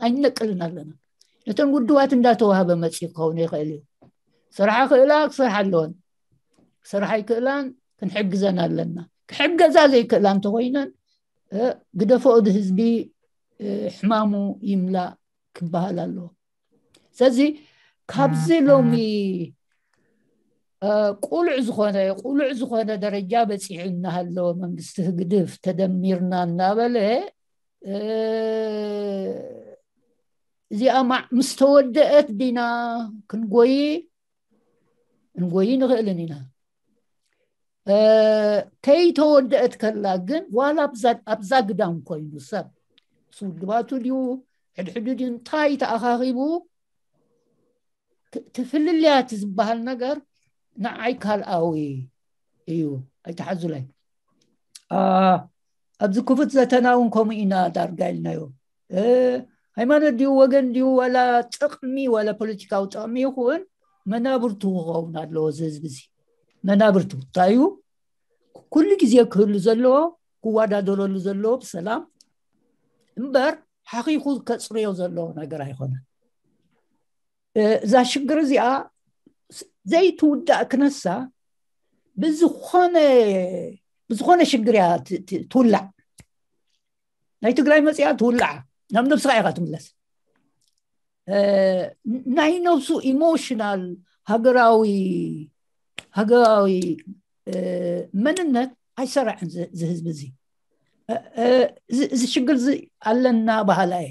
ኣይነቅልን ኣለና። ነተን ውድባት እንዳተዋህበ መፂኡ ክኸውን ይኽእል እዩ። ስርሓ ክእላ ክሰርሓ ኣለወን፣ ስርሓ ይክእላን ክንሕግዘን ኣለና። ክሕገዛ ዘይክእላ እንተኮይነን ግደፎ፣ እቲ ህዝቢ ሕማሙ ይምላእ ክበሃል ኣለዎ። ስለዚ ካብዚ ሎሚ ቁሉዕ ዝኾነ ቁሉዕ ዝኾነ ደረጃ በፂሑ እናሃለወ መንግስቲ ህግድፍ ተደሚርና እናበለ እዚኣ ማዕ ምስ ተወደአት ዲና ክንጎይ ክንጎይ ንኽእልን ኢና። ከይተወደአት ከላ ግን ዋላ ኣብዛ ግዳም ኮይኑ ሰብ ምስ ውድባቱ ድዩ ሕድሕዱ ድዩ እንታይ ተኣኻኺቡ ትፍልልያት ዝበሃል ነገር ንዓይ ካልኣዊ እዩ። ኣይተሓዙለይ። ኣብዚ ክፉት ዘተና እውን ከምኡ ኢና ዳርጋ ኢልናዮ። ሃይማኖት ድዩ ወገን ድዩ ዋላ ጥቕሚ ዋላ ፖለቲካዊ ጥቕሚ ይኹን መናብርቱ ክኸውን ኣለዎ። እዚ ህዝቢ እዚ መናብርቱ እንታይ እዩ? ኩሉ ግዜ ክህሉ ዘለዎ ክወዳደረሉ ዘለዎ ብሰላም እምበር ሓኺኹ ከፅርዮ ዘለዎ ነገር ኣይኮነን። እዛ ሽግር እዚኣ ዘይትውዳእ ክነሳ ብዝኾነ ብዝኾነ ሽግር እያ ትውላዕ። ናይ ትግራይ መፅያ ትውላዓ ናብ ነብስኻ ኢኻ ትምለስ። ናይ ነብሱ ኢሞሽናል ሃገራዊ ሃገራዊ መንነት ኣይሰራዕን። ዝህዝቢ እዚ እዚ ሽግር እዚ ኣለና ባህላ እየ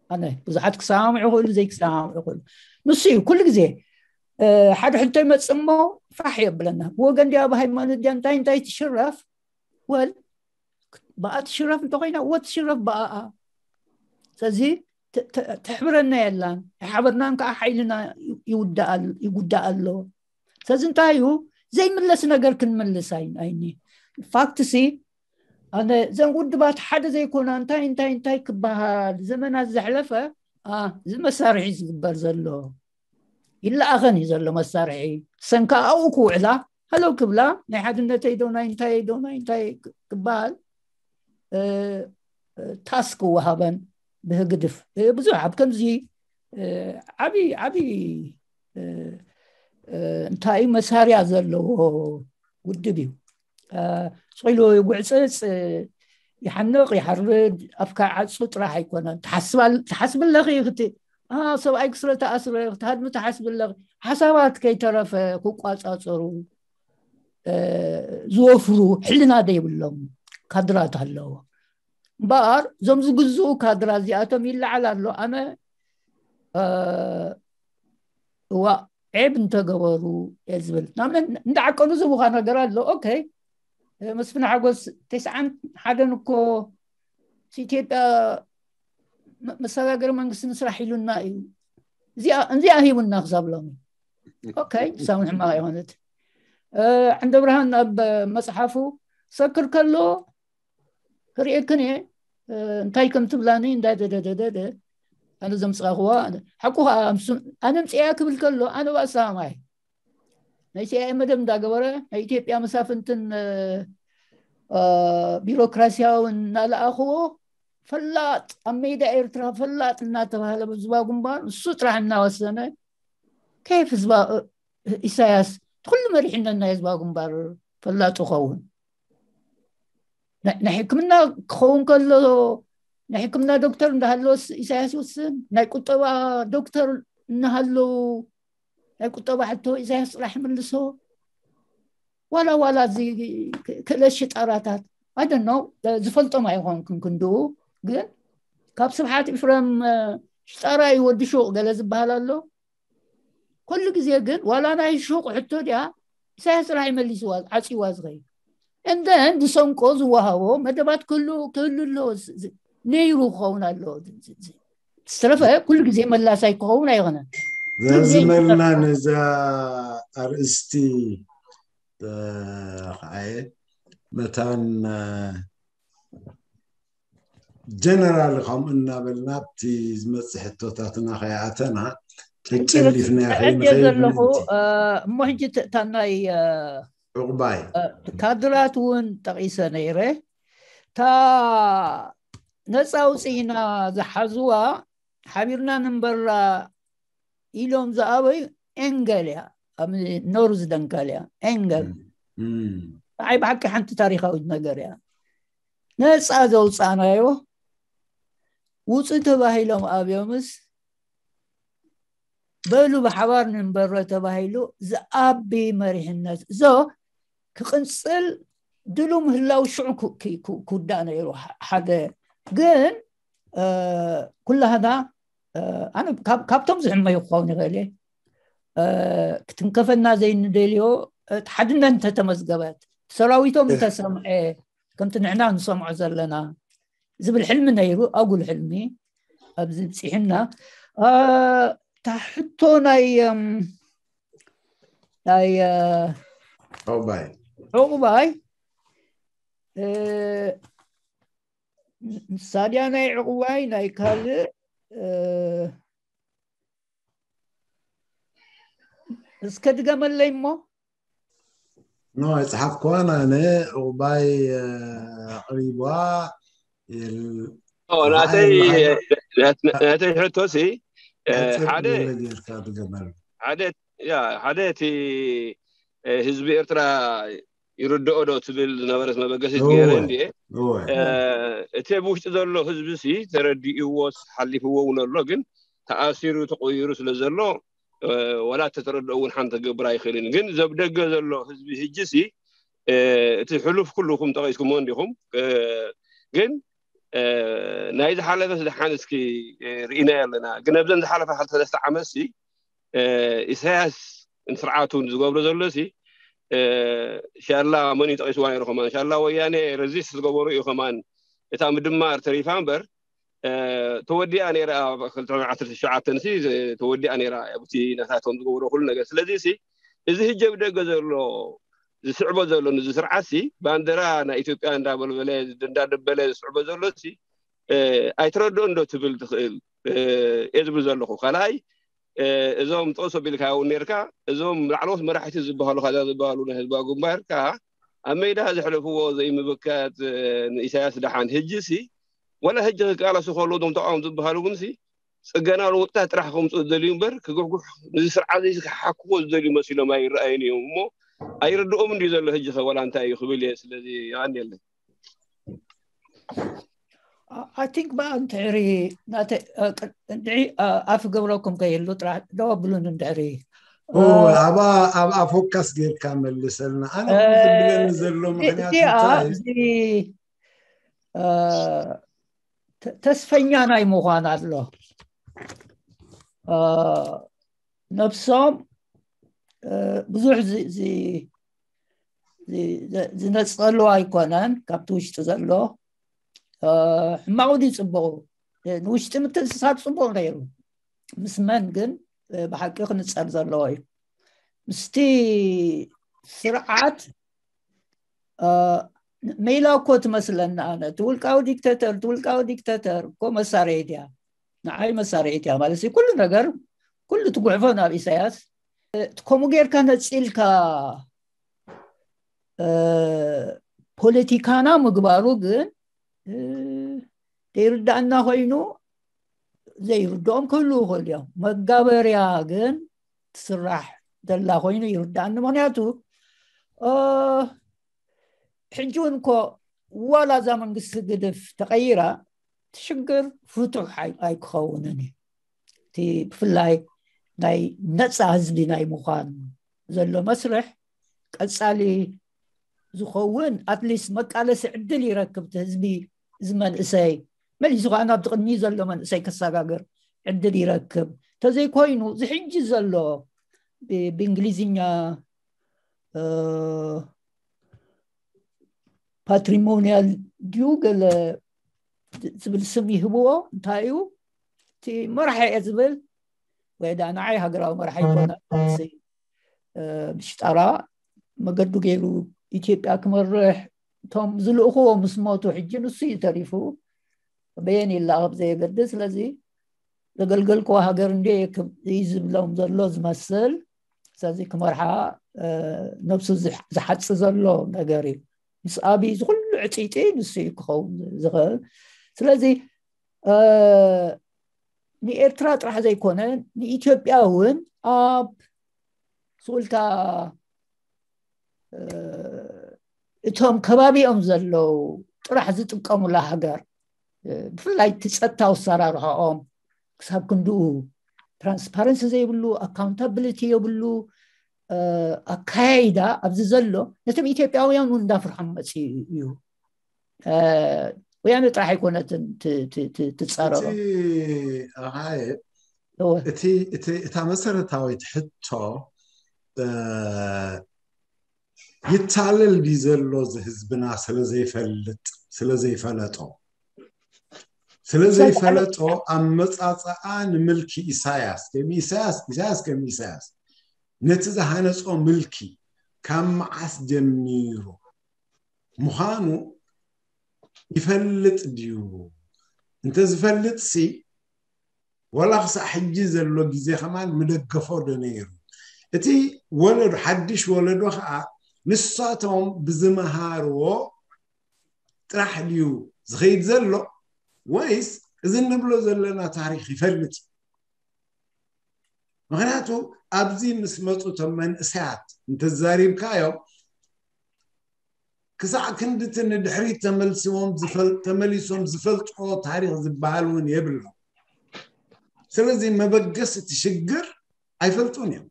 ኣነ። ብዙሓት ክሰማምዑ ይኽእሉ ዘይክሰማምዑ ይኽእሉ። ንሱ እዩ ኩሉ ግዜ ሓደ ሕቶ ይመፅእ እሞ ፋሕ የብለና። ብወገን ድያ ብሃይማኖት ድያ እንታይ እንታይ ትሽረፍ ወል ብኣ ትሽረፍ እንተኮይና እወ ትሽረፍ ብኣኣ። ስለዚ ተሕብረና የላን። ኣይሓበርናን ከዓ ሓይልና ይጉዳእ ኣሎ። ስለዚ እንታይ እዩ ዘይምለስ ነገር ክንምልስ ኣይኒ ፋክትሲ ኣነ ዘን ውድባት ሓደ ዘይኮና እንታይ እንታይ እንታይ ክበሃል ዘመናት ዘሕለፈ እዚ መሳርሒ ዝግበር ዘሎ ይለኣኸን እዩ ዘሎ መሳርሒ ሰንካ ኣብኡ ክውዕላ ሃለው ክብላ ናይ ሓድነተይ ዶ ናይ እንታይ ዶ ናይ እንታይ ክበሃል ታስክ ክወሃበን ብህግድፍ ብዙሕ ኣብ ከምዚ ዓብይ ዓብይ እንታይ መሳርያ ዘለዎ ውድብ እዩ። ስቕ ኢሉ ይጉዕፅፅ፣ ይሓንቕ፣ ይሓርድ፣ ኣፍካ ዓፁ ጥራሕ ኣይኮነን። ትሓስብ ኣለኺ፣ ሰብኣይኪ ስለ ተኣስረ ክትሃድሚ ትሓስቢ ኣለኺ። ሓሳባት ከይተረፈ ክቋፃፀሩ ዝወፍሩ ሕልና ዘይብሎም ካድራት ኣለዎ። እምበኣር እዞም ዝግዝኡ ካድራ እዚኣቶም ይለዓል ኣሎ። ኣነ እዋ ዔብ እንተገበሩ እየ ዝብል። ንኣብነት እንዳዓቀኑ ዝህቡኻ ነገር ኣሎ። ኦኬ፣ መስፍን ሓጎስ ተስዓን ሓደን እኮ ኢትዮጵያ መሰጋገሪ መንግስቲ ንስራሕ ኢሉና እዩ። እዚኣ ሂቡና ክሳብ ሎሚ። ኦኬ፣ ሳውን ሕማቕ ኣይኮነት። ዕንደ ብርሃን ኣብ መፅሓፉ ሰክር ከሎ ክርእየክን እየ እንታይ ከም ትብላኒ እንዳደደደደደ ኣነ ዘምፅኣኽዋ ሓቁ ከዓ ኣነ ምፅያ ክብል ከሎ ኣነ ባእሳማይ ናይ ሲኣይኤ መደብ እንዳገበረ ናይ ኢትዮጵያ መሳፍንትን ቢሮክራሲያውን እናለኣኽዎ ፈላጥ ኣብ ሜዳ ኤርትራ ፈላጥ እናተባህለ ህዝባዊ ግንባር እሱ ጥራሕ እናወሰነ፣ ከይፍ ህዝባ ኢሳያስ ኩሉ መሪሕነት ናይ ህዝባዊ ግንባር ፈላጥ ይኸውን? ናይ ሕክምና ክኸውን ከሎ ናይ ሕክምና ዶክተር እንዳሃለወ ኢሳያስ ይውስን፣ ናይ ቁጠባ ዶክተር እናሃለዉ ናይ ቁጠባ ሕቶ ኢሳያስ ጥራሕ ይምልሶ። ዋላ ዋላ እዚ ክእለት ሽጣራታት ኣደኖ ዝፈልጦም ኣይኾንኩን ክንድኡ፣ ግን ካብ ስብሓት ኢፍረም ሽጣራ እዩ ወዲ ሹቕ ገለ ዝበሃል ኣሎ። ኩሉ ግዜ ግን ዋላ ናይ ሹቕ ሕቶ ድያ ኢሳያስ ጥራሕ ይመሊስዋ ዓፂዋ ዝኸይ እንደን ዝሰንቆ ዝወሃቦ መደባት ክህሉ ክህሉ ኣለዎ። ነይሩ ክኸውን ኣለዎ። ዝተረፈ ኩሉ ግዜ መላሳይ ክኸውን ኣይኾነን። ዘዝመልና ነዛ ኣርእስቲ ከዓየ መታን ጀነራል ከምኡ እናበልና ኣብቲ ዝመፅእ ሕቶታትና ከይኣተና ተጨሊፍና ዘለኹ። እሞ ሕጂ ታናይ ዕቑባይ ካድራት እውን ጠቒሰ ነይረ። እታ ነፃ ኣውፅኢና ዝሓዝዋ ሓቢርና ንንበራ ኢሎም ዝኣበዩ ኤንገል እያ። ኣብ ኖርዝ ደንካል እያ ኤንገል። ንዓይ ብሓቂ ሓንቲ ታሪካዊት ነገር እያ። ነፃ ዘውፃእናዮ ውፁ ተባሂሎም ኣብዮምስ በሉ ብሓባር ንንበሮ ተባሂሉ ዝኣቢ መሪሕነት እዞ ክቕንፅል ድሉ ምህላው ሽዑ ክውዳእ ነይሩ። ሓደ ግን ኩላህና ኣነ ካብቶም ዝሕመዩ ክኸውን ይኽእል ክትንከፈና ዘይንደልዮ ሓድነት እንተተመዝገበት ሰራዊቶም እንተሰምዐ ከምቲ ንሕና ንሰምዖ ዘለና ዝብል ሕልሚ ነይሩ። ኣጉል ሕልሚ ኣብዚ ብፂሕና። እታ ሕቶ ናይ ናይ ዕቑባይ ዕቑባይ ንሳድያ ናይ ዕቑባይ ናይ ካልእ እስከ ድገመለይ እሞ ኖ ኣይፀሓፍኩዋን ኣነ። ዕቑባይ ኣቕሪቧ። ናተይ ሕቶ ሲ ሓደ ሓደ እቲ ህዝቢ ኤርትራ ይርድኦ ዶ ትብል ዝነበረት መበገሲት ገይረ እንድየ። እቲ ኣብ ውሽጢ ዘሎ ህዝቢ ሲ ተረዲእዎስ ሓሊፍዎ እውን ኣሎ፣ ግን ተኣሲሩ ተቆይሩ ስለ ዘሎ ወላ ተተረድኦ እውን ሓንቲ ክገብር ኣይኽእልን። ግን ዘብ ደገ ዘሎ ህዝቢ ህጂ ሲ እቲ ሕሉፍ ኩልኩም ጠቂስኩሞ እንዲኹም፣ ግን ናይ ዝሓለፈ ስደሓን እስኪ ርኢናዮ ኣለና። ግን ኣብዘን ዝሓለፈ ክልተ ሰለስተ ዓመት ሲ ኢሳያስ ንስርዓቱ ዝገብሮ ዘሎ ሲ ሻላ መን እዩ ጠቂስዋ ነይሩ ከማን ሻላ ወያኔ ረዚስት ዝገበሩ እዩ ከማን እታ ምድማር ተሪፋ እምበር ተወዲኣ ነይራ። ክልተ ዓሰርተ ትሽዓተ ሲ ተወዲኣ ነይራ ኣብቲ ናታቶም ዝገብሮ ኩሉ ነገር። ስለዚ ሲ እዚ ህጂ ኣብ ደገ ዘሎ ዝስዕቦ ዘሎ ንዚ ስርዓት ሲ ባንደራ ናይ ኢትዮጵያ እንዳበልበለ እንዳደበለ ዝስዕቦ ዘሎ ሲ ኣይትረድኦ እንዶ ትብል ትኽእል እየ ዝብል ዘለኹ። ካልኣይ እዞም ጠቅሶ ቢልካ እውን ነርካ እዞም ላዕለዎት መራሕቲ ዝበሃሉ ካዛ ዝበሃሉ ናይ ህዝባዊ ግንባር ከዓ ኣብ ሜዳ ዘሕለፍዎ ዘይምብካት ንኢሳያስ ደሓን ህጂ ሲ ወላ ህጂ ክቃለሱ ከለዉ እዞም ተቃወምቲ ዝበሃሉ እውን ሲ ፅገና ለውጥታት ጥራሕ ከምፅኡ ዝደልዩ እምበር ክጉሕጉሕ ንዚ ስርዓት እዚ ክሓክዎ ዝደልዩ መሲሎም ኣይረኣዩን እዮም እሞ ኣይርድኦም እንድዩ ዘሎ ህጂ ከ ወላ እንታይ እዩ ክብል እየ። ስለዚ የቀንየለይ። I think ብኣ እንድሕሪ ናተ እንድዒ ኣፍ ገብረኩም ከይህሉ ጥራሕ ደው ኣብሉን እንድሕሪ ኣብኣ ፎካስ ጌርካ መልሰልና። ኣነ ዝብለኒ ዘሎ ምክንያት እዚኣ እዚ ተስፈኛ ናይ ምዃን ኣሎ። ነብሶም ብዙሕ ዝነፀሉ ኣይኮነን። ካብቲ ውሽጢ ዘሎ ሕማቑ ድዩ ፅቡቑ? ንውሽጢ ምትእስሳር ፅቡቕ ነይሩ። ምስ መን ግን ብሓቂ ክንፀር ዘለዎ እዩ። ምስቲ ስርዓት ሜላ እኮ ትመስለና። ኣነ እቲ ውልቃዊ ዲክተተር እቲ ውልቃዊ ዲክተተር እኮ መሳርሒት እያ። ንዓይ መሳርሒት እያ ማለት ኩሉ ነገር ኩሉ ትጉሕፎ ናብ ኢሳያስ። ከምኡ ጌርካ ነፂልካ ፖለቲካና ምግባሩ ግን ዘይርዳእና ኮይኑ ዘይርድኦም ክህልዉ ይኽእሉ እዮም። መጋበርያ ግን ትስራሕ ዘላ ኮይኑ ይርዳእኒ። ምኽንያቱ ሕጂ እውን እኮ ዋላ እዛ መንግስቲ ግድፍ ተቐይራ ሽግር ፍቱሕ ኣይክኸውንን እዩ። እቲ ብፍላይ ናይ ነፃ ህዝቢ ናይ ምዃን ዘሎ መስርሕ ቀፃሊ ዝኸውን ኣትሊስት መቃለሲ ዕድል ይረክብ እቲ ህዝቢ። እዚ መንእሰይ መሊሱ ከዓ ናብቲ ቅድሚ ዘሎ መንእሰይ ከሰጋግር ዕድል ይረክብ። ተዘይኮይኑ እዚ ሕጂ ዘሎ ብእንግሊዝኛ ፓትሪሞኒያል ድዩ ገለ ዝብል ስም ይህብዎ። እንታይ እዩ እቲ መራሒ እየ ዝብል ወይ ዳ ንዓይ ሃገራዊ መራሒ ይኮነ ምሽጠራ መገዱ ገይሩ ኢትዮጵያ ክመርሕ እቶም ዝልእኽዎ ምስ ሞቱ ሕጂ ንሱ እዩ ተሪፉ። በየን ይላቐብ ዘየገድስ። ስለዚ ዘገልገልክዎ ሃገር እንደ እዩ ዝብሎም ዘሎ ዝመስል። ስለዚ ክመርሓ ነብሱ ዝሓፅ ዘሎ ነገር እዩ። ምስ ኣብይ ዝኩሉ ዕፅይፂ ንሱ እዩ ክኸውን ዝኽእል። ስለዚ ንኤርትራ ጥራሕ ዘይኮነ ንኢትዮጵያ እውን ኣብ ስኡልታ እቶም ከባቢኦም ዘለዉ ጥራሕ ዝጥቀሙላ ሃገር ብፍላይ እቲ ፀጥታ ኣሰራርሖኦም ክሳብ ክንድኡ ትራንስፓረንሲ ዘይብሉ ኣካውንታብሊቲ የብሉ ኣካያይዳ ኣብዚ ዘሎ ነቶም ኢትዮጵያውያን እውን እንዳፍርሖም መፅኡ እዩ። ወያነ ጥራሕ ኣይኮነትን ትፃረሮ። እታ መሰረታዊት ሕቶ ይታለል ድዩ ዘሎ እዚ ህዝብና ስለዘይፈልጥ ስለዘይፈለጦ ስለዘይፈለጦ ኣመፃፅኣ ንምልኪ ኢሳያስ ከም ኢሳያስ ኢሳያስ ከም ኢሳያስ ነቲ ዝሃነፆ ምልኪ ካብ መዓስ ጀሚሩ ምዃኑ ይፈልጥ ድዩ? እንተዝፈልጥሲ ዋላ ክሳዕ ሕጂ ዘሎ ግዜ ከማን ምደገፎ ዶ ነይሩ? እቲ ወለዶ ሓድሽ ወለዶ ከዓ ንሳቶም ብዝመሃርዎ ጥራሕ ድዩ ዝኸይድ ዘሎ ወይስ እዚ እንብሎ ዘለና ታሪክ ይፈልጥ እዩ? ምክንያቱ ኣብዚ ምስ መፁ እቶም መንእሰያት እንተዛሪብካዮም ክሳዕ ክንድቲ ንድሕሪት ተመልሲዎም ተመሊሶም ዝፈልጥዎ ታሪክ ዝበሃል እውን የብሎም። ስለዚ መበገስ እቲ ሽግር ኣይፈልጡን እዮም።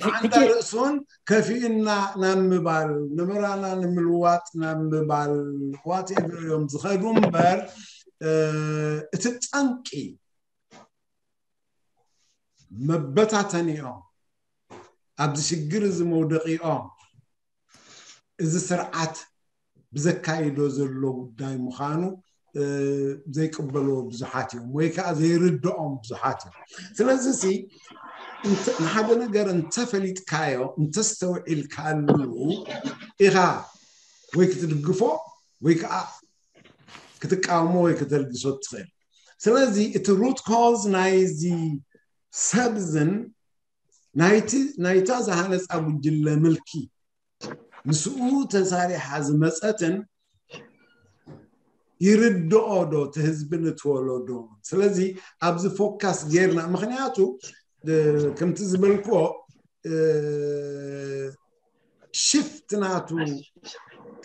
ሓንታ ርእሱን ከፊእና ናብ ምባል ንብራና ንምልዋጥ ናብ ምባል ዋቴቨር እዮም ዝኸዱ እምበር እቲ ጠንቂ መበታተኒኦም ኣብዚ ሽግር እዚ መውደቂኦም እዚ ስርዓት ብዘካይዶ ዘሎ ጉዳይ ምዃኑ ዘይቅበልዎ ብዙሓት እዮም ወይ ከዓ ዘይርድኦም ብዙሓት እዮም። ስለዚ ንሓደ ነገር እንተፈሊጥካዮ እንተስተውዒልካሉ ኢኻ ወይ ክትድግፎ ወይ ከዓ ክትቃወሞ ወይ ከተልግሶ ትኽእል። ስለዚ እቲ ሩት ኮዝ ናይዚ ሰብዝን ናይታ ዝሃነፃ ጉጅለ ምልኪ ምስኡ ተሳሪሓ ዝመፀትን ይርድኦ ዶ እቲ ህዝቢ ንትወለዶ? ስለዚ ኣብዚ ፎካስ ጌርና ምክንያቱ ከምቲ ዝበልክዎ ሽፍት ናቱ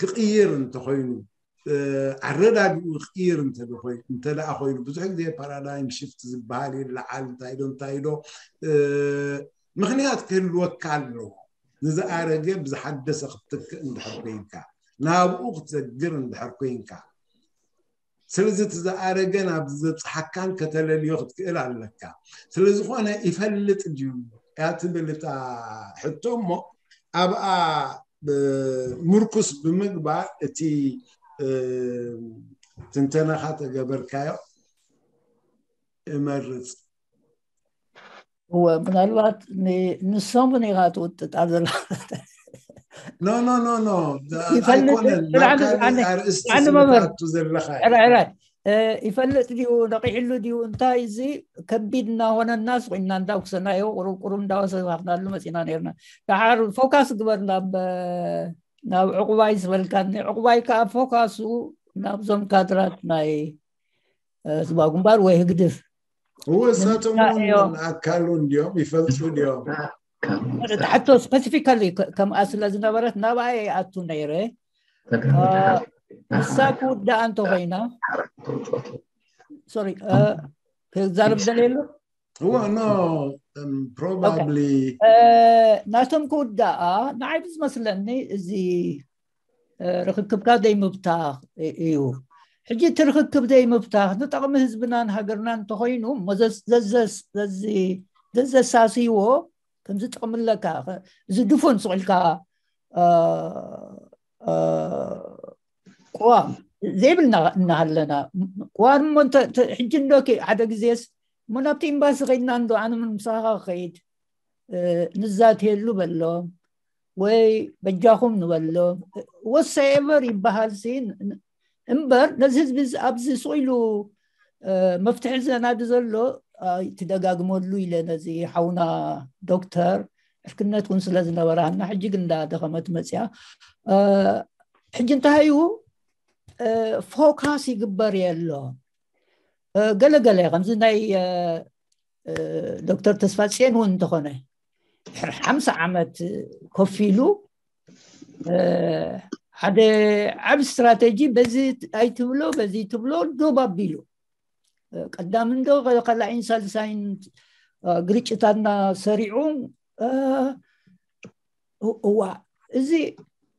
ክቕይር እንተኮይኑ ኣረዳድኡ ክቕይር እንተደኣ ኮይኑ ብዙሕ ግዜ ፓራዳይም ሽፍት ዝበሃል ይለዓል እንታይ ዶ እንታይ ዶ ምክንያት ክህልወካ ኣለዎ። ንዝኣረገ ብዝሓደሰ ክትትክእ እንድሕር ኮይንካ ናብኡ ክትሰግር እንድሕር ኮይንካ ስለዚ እቲ ዝኣረገ ናብ ዘብፅሓካን ከተለልዮ ክትክእል ኣለካ። ስለዝኾነ ይፈልጥ ድዩ እያ ትብል እታ ሕቶ እሞ ኣብኣ ምርኩስ ብምግባር እቲ ትንተናኻ ተገበርካዮ እመርፅ። እወ ምናልባት ንሶም ኔኻ ትውጥጣ ዘላ ኖ ኖ ኖ ኖ ይፈልጥ ኣይኮነን ናብ ካልእ ኣርእስቲ ስምታቱ ዘለኻ ሕራይ ሕራይ ይፈልጥ ድዩ ነቂሕሉ ድዩ እንታይ እዚ ከቢድ እናኾነና ስቁና እንዳውክሰናዮ ቁሩብ ቁሩብ እንዳወሰናሉ መፂና ነርና። ደሓር ፎካስ ግበር ናብ ናብ ዕቑባይ ዝበልካኒ፣ ዕቑባይ ከዓ ፎካሱ ናብዞም ካድራት ናይ ህዝባዊ ግንባር ወይ ህግድፍ እወ እሳቶም እውን ኣካሉ እንዲዮም፣ ይፈልጡ እንዲዮም። ትሕቶ ስፐሲፊካሊ ከምኣ ስለ ዝነበረት ናብኣ ይኣቱ ነይረ። እሳ ክውዳኣ እንተኮይና ሶሪ ክዛረብ ደልየሉ እወ ኖ ፕሮባብሊ ናቶም ክውዳኣ ንዓይ ብዝመስለኒ እዚ ርክክብካ ዘይምብታኽ እዩ። ሕጂ እቲ ርክክብ ዘይምብታኽ ንጠቕሚ ህዝብናን ሃገርናን እንተኮይኑ ዘዘሳስይዎ ከምዚ ጥቕሚ ኣለካ። እዚ ድፉን ስቕ ኢልካ ቅዋም ዘይብልና እናሃለና ቅዋም እሞ ሕጂ እንዶ ሓደ ግዜስ እሞ ናብቲ ኤምባሲ ከይድና እንዶ ኣነ ምን ምሳኻ ክኸይድ ንዛትየሉ በሎም ወይ በጃኹም ንበሎም ወሰኤቨር ይበሃል ሲ እምበር ነዚ ህዝቢ ኣብዚ ስቕ ኢሉ መፍትሒ ዘናዲ ዘሎ ትደጋግመሉ ኢለ ነዚ ሓውና ዶክተር ዕርክነት እውን ስለ ዝነበራና ሕጂ ግን እንዳደኸመት መፅያ ሕጂ እንታይ እዩ ፎካስ ይግበር የሎ ገለገለ ከምዚ ናይ ዶክተር ተስፋፅዮን እውን እንተኾነ ድሕሪ ሓምሳ ዓመት ኮፍ ኢሉ ሓደ ዓብ ስትራተጂ በዚ ኣይትብሎ በዚ ትብሎ ዶብ ኣቢሉ ቀዳም እንዶ ካልኣይን ሳልሳይን ግርጭታትና ሰሪዑ እዋ እዚ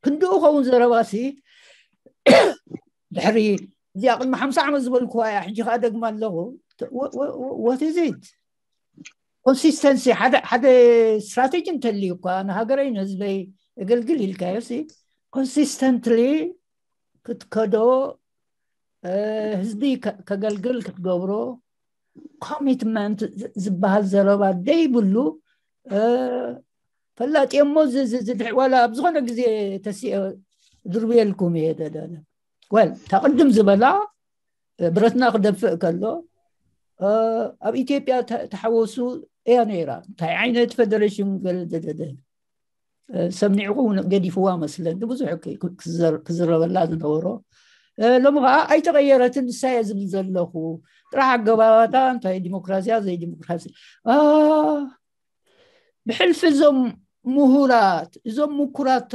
ክንድኡ ከውን ዘረባሲ ድሕሪ እዚኣ ቅድሚ ሓምሳ ዓመት ዝበልኩዋ እያ ሕጂ ከዓ ደግማ ኣለኹ ወትዚት ኮንሲስተንሲ ሓደ ስትራቴጂ እንተልዩ እኳ ንሃገረይ ንህዝበይ እገልግል ኢልካዮ ኮንሲስተንትሊ ክትከዶ ህዝቢ ከገልግል ክትገብሮ ኮሚትመንት ዝበሃል ዘረባ ደይብሉ ፈላጢ እሞ ዋላ ኣብ ዝኾነ ግዜ ተሲኦ ድርብየልኩም እየ ደደለ ወል ተቅድም ዝበላ ብረትና ክደፍእ ከሎ ኣብ ኢትዮጵያ ተሓወሱ እያ ነይራ እንታይ ዓይነት ፌደሬሽን ገለ ደደደ ሰሚዕኹ ገዲፍዋ መስለኒ ብዙሕ ክዝረበላ ዝነበሮ ሎሚ ከዓ ኣይተቀየረትን ንሳየ ዝብል ዘለኹ ጥራሕ ኣገባባታ እንታይ ዲሞክራሲያ ዘይዲሞክራሲ ብሕልፊ እዞም ምሁራት እዞም ምኩራት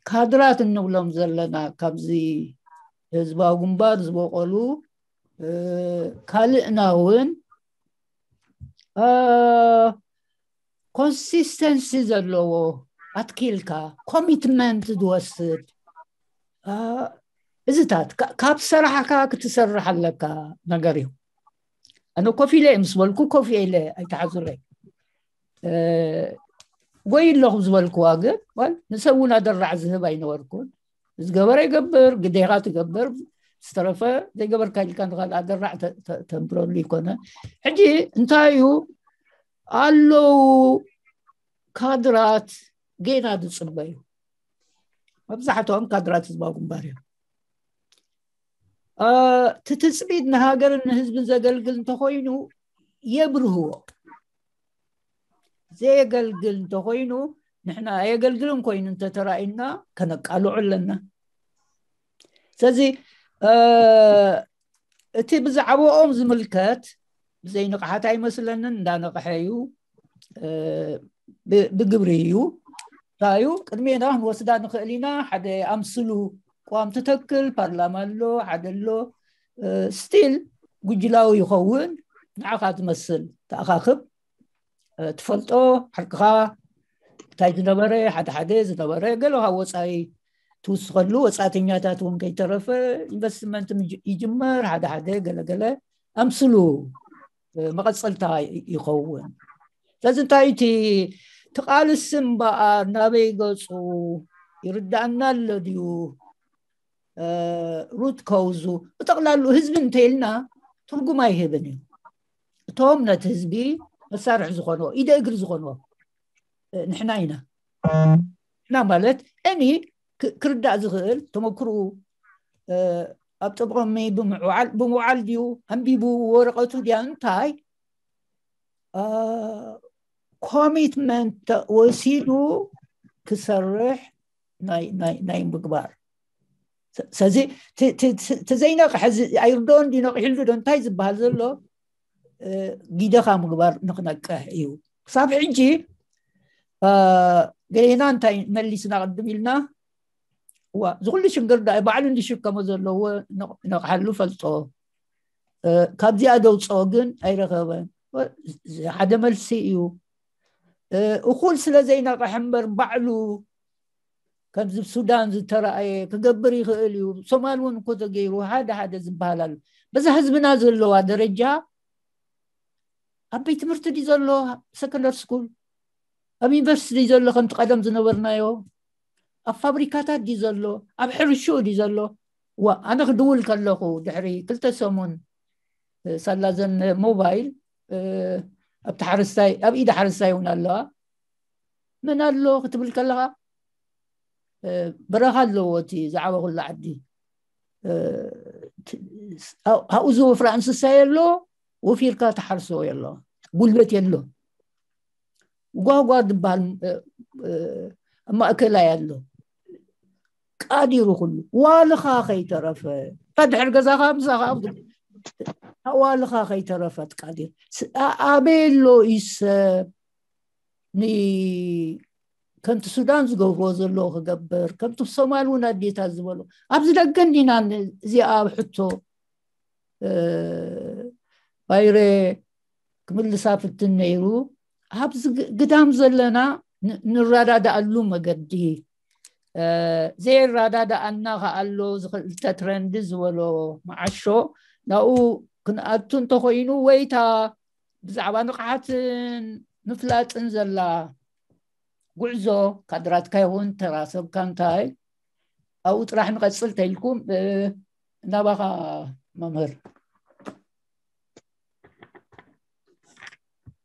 ካድራት እንብሎም ዘለና ካብዚ ህዝባዊ ግንባር ዝበቀሉ ካልእና እውን ኮንሲስተንሲ ዘለዎ ኣትኪልካ ኮሚትመንት ዝወስድ እዚታት ካብ ሰራሕካ ክትሰርሕ ኣለካ ነገር እዩ ኣነ ኮፍ ኢለ ምስ በልኩ ኮፍ ኢለ ኣይተሓዙረ ጎይ ኣለኹ ዝበልክዋ ግን ንሰብ እውን ኣደራዕ ዝህብ ኣይነበርኩን ዝገበረ ይገብር ግዴኻ ትገብር ዝተረፈ ዘይገበርካ ኢልካ ንካል ኣደራዕ ተንብረሉ ይኮነ ሕጂ እንታይ እዩ ኣለዉ ካድራት ጌና ዝፅበዩ መብዛሕትኦም ካድራት ህዝባዊ ግንባር እዮም እቲ ትፅቢት ንሃገርን ንህዝብን ዘገልግል እንተኮይኑ የብርህዎ ዘየገልግል እንተኮይኑ ንሕና ኣየገልግልን ኮይኑ እንተተራእዩና ከነቃልዑ ኣለና ስለዚ እቲ ብዛዕባኦም ዝምልከት ብዘይንቕሓት ኣይመስለንን እንዳነቕሐ እዩ ብግብሪ እዩ እንታይ እዩ ቅድሜና ክንወስዳ ንኽእል ኢና ሓደ ኣምስሉ ቋም ትተክል ፓርላማ ኣሎ ሓደ ኣሎ ስቲል ጉጅላዊ ይኸውን ንዓኻ ትመስል ተኣኻኽብ ትፈልጦ ሓቅኻ እንታይ ዝነበረ ሓደ ሓደ ዝነበረ ገለ ካብ ወፃኢ ትውስኸሉ ወፃእተኛታት እውን ከይተረፈ ኢንቨስትመንት ይጅመር ሓደ ሓደ ገለገለ ኣምስሉ መቐፀልታ ይኸውን ስለዚ እንታይ እቲ ትቃልስ እምበኣር ናበይ ገፁ ይርዳእና ኣሎ ድዩ ሩት ከውዙ ብጠቕላሉ ህዝቢ እንተኢልና ትርጉም ኣይህብን እዩ እቶም ነቲ ህዝቢ መሳርሒ ዝኾንዎ ኢደ እግሪ ዝኾንዎ ንሕና ኢና ንሕና ማለት እኒ ክርዳእ ዝኽእል ተመክርኡ ኣብ ጥቕሚ ብምውዓል ድዩ ኣንቢቡ ወረቐቱ ድያ እንታይ ኮሚትመንት ወሲዱ ክሰርሕ ናይ ምግባር። ስለዚ ተዘይነቕሐ ኣይርዶን ዲ ነቂሕሉ ዶ እንታይ ዝበሃል ዘሎ ጊደኻ ምግባር ንክነቅሕ እዩ። ክሳብ ሕጂ ገሌና እንታይ መሊስና ቅድም ኢልና፣ ዋ ዝኩሉ ሽግር ዳ ባዕሉ እንዲሽከሞ ዘለዎ ነቕሓሉ ፈልጦ፣ ካብዚኣ ደውፅኦ ግን ኣይረኸበን። ሓደ መልሲ እዩ። እኩል ስለ ዘይነቕሕ እምበር ባዕሉ ከምዚ ሱዳን ዝተረኣየ ክገብር ይኽእል እዩ። ሶማል እውን እኮ ተገይሩ ሓደ ሓደ ዝበሃል ኣሎ። በዛ ህዝብና ዘለዋ ደረጃ ኣብ ቤት ትምህርቲ ድዩ ዘሎ፣ ሰከንደር ስኩል ኣብ ዩኒቨርሲቲ ድዩ ዘሎ፣ ከምቲ ቀደም ዝነበርናዮ ኣብ ፋብሪካታት ድዩ ዘሎ፣ ኣብ ሕርሽኡ ድዩ ዘሎ? ዋ ኣነ ክድውል ከለኹ ድሕሪ ክልተ ሰሙን ሳላዘን ሞባይል ኣብቲ ሓረስታይ ኣብ ኢድ ሓረስታይ እውን ኣለዋ። መን ኣሎ ክትብል ከለኻ በረኻ ኣለዎ እቲ ዝዓበኹሉ ዓዲ። ኣብኡ ዝወፍራ እንስሳ የሎ፣ ወፊርካ ትሓርሶ የሎ፣ ጉልበት የሎ። ጓጓ ዝበሃል ኣብ ማእከላይ ኣሎ። ቃዲሩ ኩሉ ዋልኻ ከይተረፈ ድሕር ገዛኻ ምሳኻ ዋልኻ ከይተረፈት ቃዲር ኣበይ ኣሎ እዩ ሰብ ከምቲ ሱዳን ዝገብርዎ ዘለዎ ክገብር፣ ከምቲ ሶማል እውን ኣዴታት ዝበሎ ኣብዚ ደገ እንዲና እዚኣ ኣብ ሕቶ ባይረ ክምልሳ ፍትን ነይሩ። ኣብዚ ግዳም ዘለና ንረዳዳኣሉ መገዲ፣ ዘይረዳዳኣና ከኣሎ ዝክልተ ትረንድ ዝበሎ መዓሾ ናብኡ ክንኣቱ እንተኮይኑ፣ ወይታ ብዛዕባ ንቕሓትን ምፍላጥን ዘላ ጉዕዞ፣ ካድራትካ ይኹን ተራ ሰብካ እንታይ ኣብኡ ጥራሕ ንቐፅል ተኢልኩም። ናባኻ መምህር።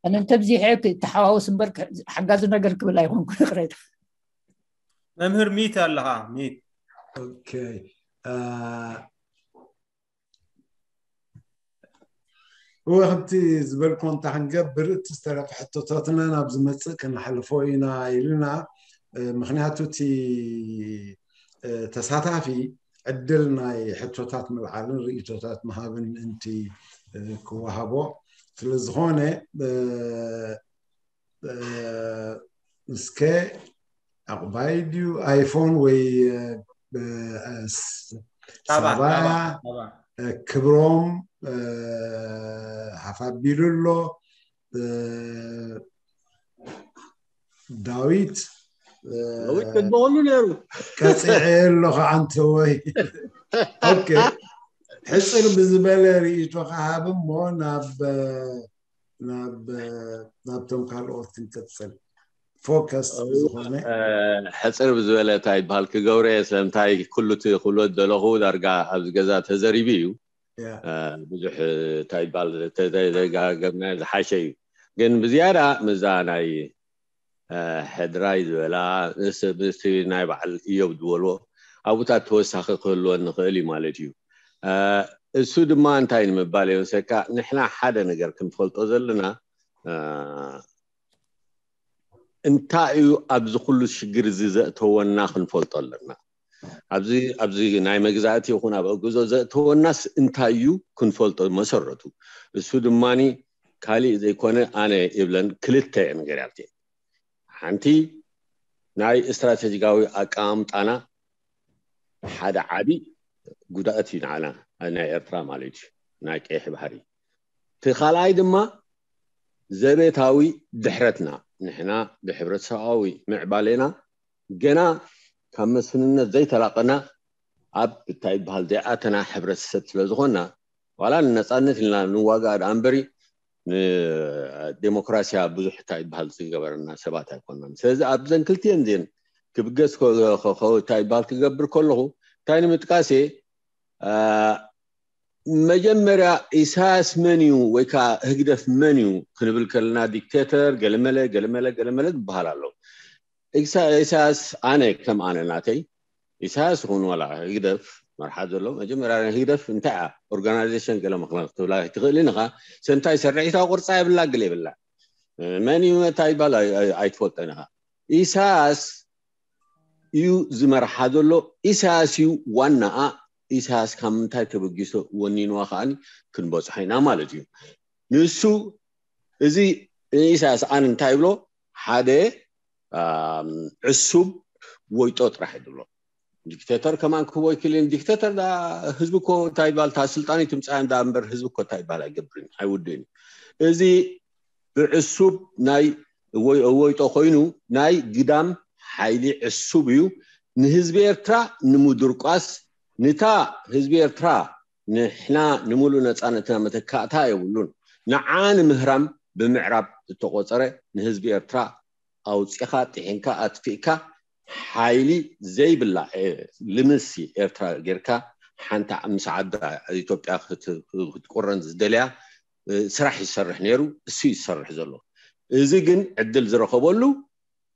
ኣነ እንተብዚሐ ክተሓዋወስ እምበር ሓጋዚ ነገር ክብል ኣይኮንኩ። ይቕሬታ። መምህር ሚት ኣለኻ? ሚት። እወ፣ ከምቲ ዝበልኮ እንታ ክንገብር፣ እቲ ዝተረፈ ሕቶታትና ናብ ዝመፅእ ከነሓልፎ ኢና ኢልና። ምክንያቱ እቲ ተሳታፊ ዕድል ናይ ሕቶታት ምልዓልን ርእቶታት ምሃብን ምእንቲ ክወሃቦ ስለዝኾነ፣ እስከ ኣቕባይ ድዩ ኣይፎን ወይ ሳባ ክብሮም ሃፍ ኣቢሉ ኣሎ። ዳዊት ዳዊት ተግበሉ ነይሩ። ቀፂዐ ኣለኹ ኣንተ ወይ። ኦኬ፣ ሕፅር ብዝበለ ርእይቶ ክሃብ እሞ ናብ ናብ ናብቶም ካልኦት ክንቅፅል። ፎከስ ዝኾነ ሕፅር ብዝበለ እንታይ ይበሃል ክገብረ ስለምንታይ ኩሉ እቲ ክብሎ ዝደለኹ ዳርጋ ኣብዚ ገዛ ተዘሪቡ እዩ። ብዙሕ እንታይ ይበሃል ተደጋገምና ዝሓሸ እዩ። ግን ብዝያዳ ምዛ ናይ ሕድራይ ዝበላ ምስቲ ናይ በዓል እዮብ ዝበልዎ ኣብኡታት ተወሳኺ ክህልወን ንኽእል እዩ ማለት እዩ። እሱ ድማ እንታይ ንምባል የወሰካ፣ ንሕና ሓደ ነገር ክንፈልጦ ዘለና እንታይ እዩ ኣብዚ ኩሉ ሽግር እዚ ዘእተወና ክንፈልጦ ኣለና። ኣብዚ ኣብዚ ናይ መግዛእቲ ይኹን ኣብ ኣግዞ ዘእተወናስ እንታይ እዩ ክንፈልጦ መሰረቱ። እሱ ድማኒ ካሊእ ዘይኮነ ኣነ ይብለን ክልተ እየን ገርያልቲ። ሓንቲ ናይ ስትራቴጂካዊ ኣቀማምጣና ሓደ ዓቢ ጉድኣት እዩ ንዓና ናይ ኤርትራ ማለት እዩ ናይ ቀይሕ ባህሪ። እቲ ካልኣይ ድማ ዘቤታዊ ድሕረትና ንሕና ብሕብረተሰባዊ ምዕባሌና ገና ካብ መስፍንነት ዘይተላቐና ኣብ እንታይ ይበሃል ዘይኣተና ሕብረተሰብ ስለ ዝኾንና ዋላ ንነፃነት ኢልና ንዋጋእ ደኣ እምበሪ ንዴሞክራሲያ ብዙሕ እንታይ ይበሃል ዝገበረና ሰባት ኣይኮንናን። ስለዚ ኣብዘን ክልቲኤን ዜን ክብገስ እንታይ ይበሃል ክገብር ከለኹ እንታይ ንምጥቃስ እየ መጀመርያ ኢሳያስ መን እዩ ወይ ከዓ ህግደፍ መን እዩ ክንብል ከለና ዲክቴተር ገለመለ ገለመለ ገለመለ ዝበሃል ኣሎ። ኢሳያስ ኣነ ከም ኣነ ናተይ ኢሳያስ ይኹን ዋላ ህግደፍ መርሓ ዘሎ መጀመርያ ህግደፍ እንታይ እያ ኦርጋናይዜሽን ገለ ምክንያት ክትብላ ኣይትኽእልን ኢኻ። ሰምታይ ሰርዒታ ቁርፃ የብላ ግል የብላ መን እዩ መታ ይባል ኣይትፈልጠን ኢኻ። ኢሳያስ እዩ ዝመርሓ ዘሎ። ኢሳያስ እዩ ዋናኣ። ኢሳያስ ካብ ምንታይ ተበጊሶ ወኒንዋ ከዓኒ ክንበፅሖ ኢና ማለት እዩ። ንሱ እዚ ኢሳያስ ኣን እንታይ ይብሎ? ሓደ ዕሱብ ወይጦ ጥራሕ ይብሎ። ዲክቴተር ከማን ክህቦ ይክልን። ዲክቴተር ህዝቢ እኮ እንታይ ይባል? እታ ስልጣን ትምፃእ እንዳ እምበር ህዝቢ እኮ እንታይ ይባል? ኣይገብርን፣ ኣይውድን። እዚ ብዕሱብ ናይ ወይጦ ኮይኑ ናይ ግዳም ሓይሊ ዕሱብ እዩ። ንህዝቢ ኤርትራ ንምድርቋስ፣ ንታ ህዝቢ ኤርትራ ንሕና ንምሉእ ነፃነትና መተካእታ የብሉን፣ ንዓ ንምህራም ብምዕራብ ዝተቆፀረ ንህዝቢ ኤርትራ ኣውፂኻ ጥሒንካ ኣጥፊእካ ሓይሊ ዘይብላ ልምሲ ኤርትራ ጌርካ ሓንቲ ምስ ዓዳ ኢትዮጵያ ክትቁረን ዝደልያ ስራሕ ይሰርሕ ነይሩ። እሱ ይሰርሕ ዘሎ። እዚ ግን ዕድል ዝረኸበሉ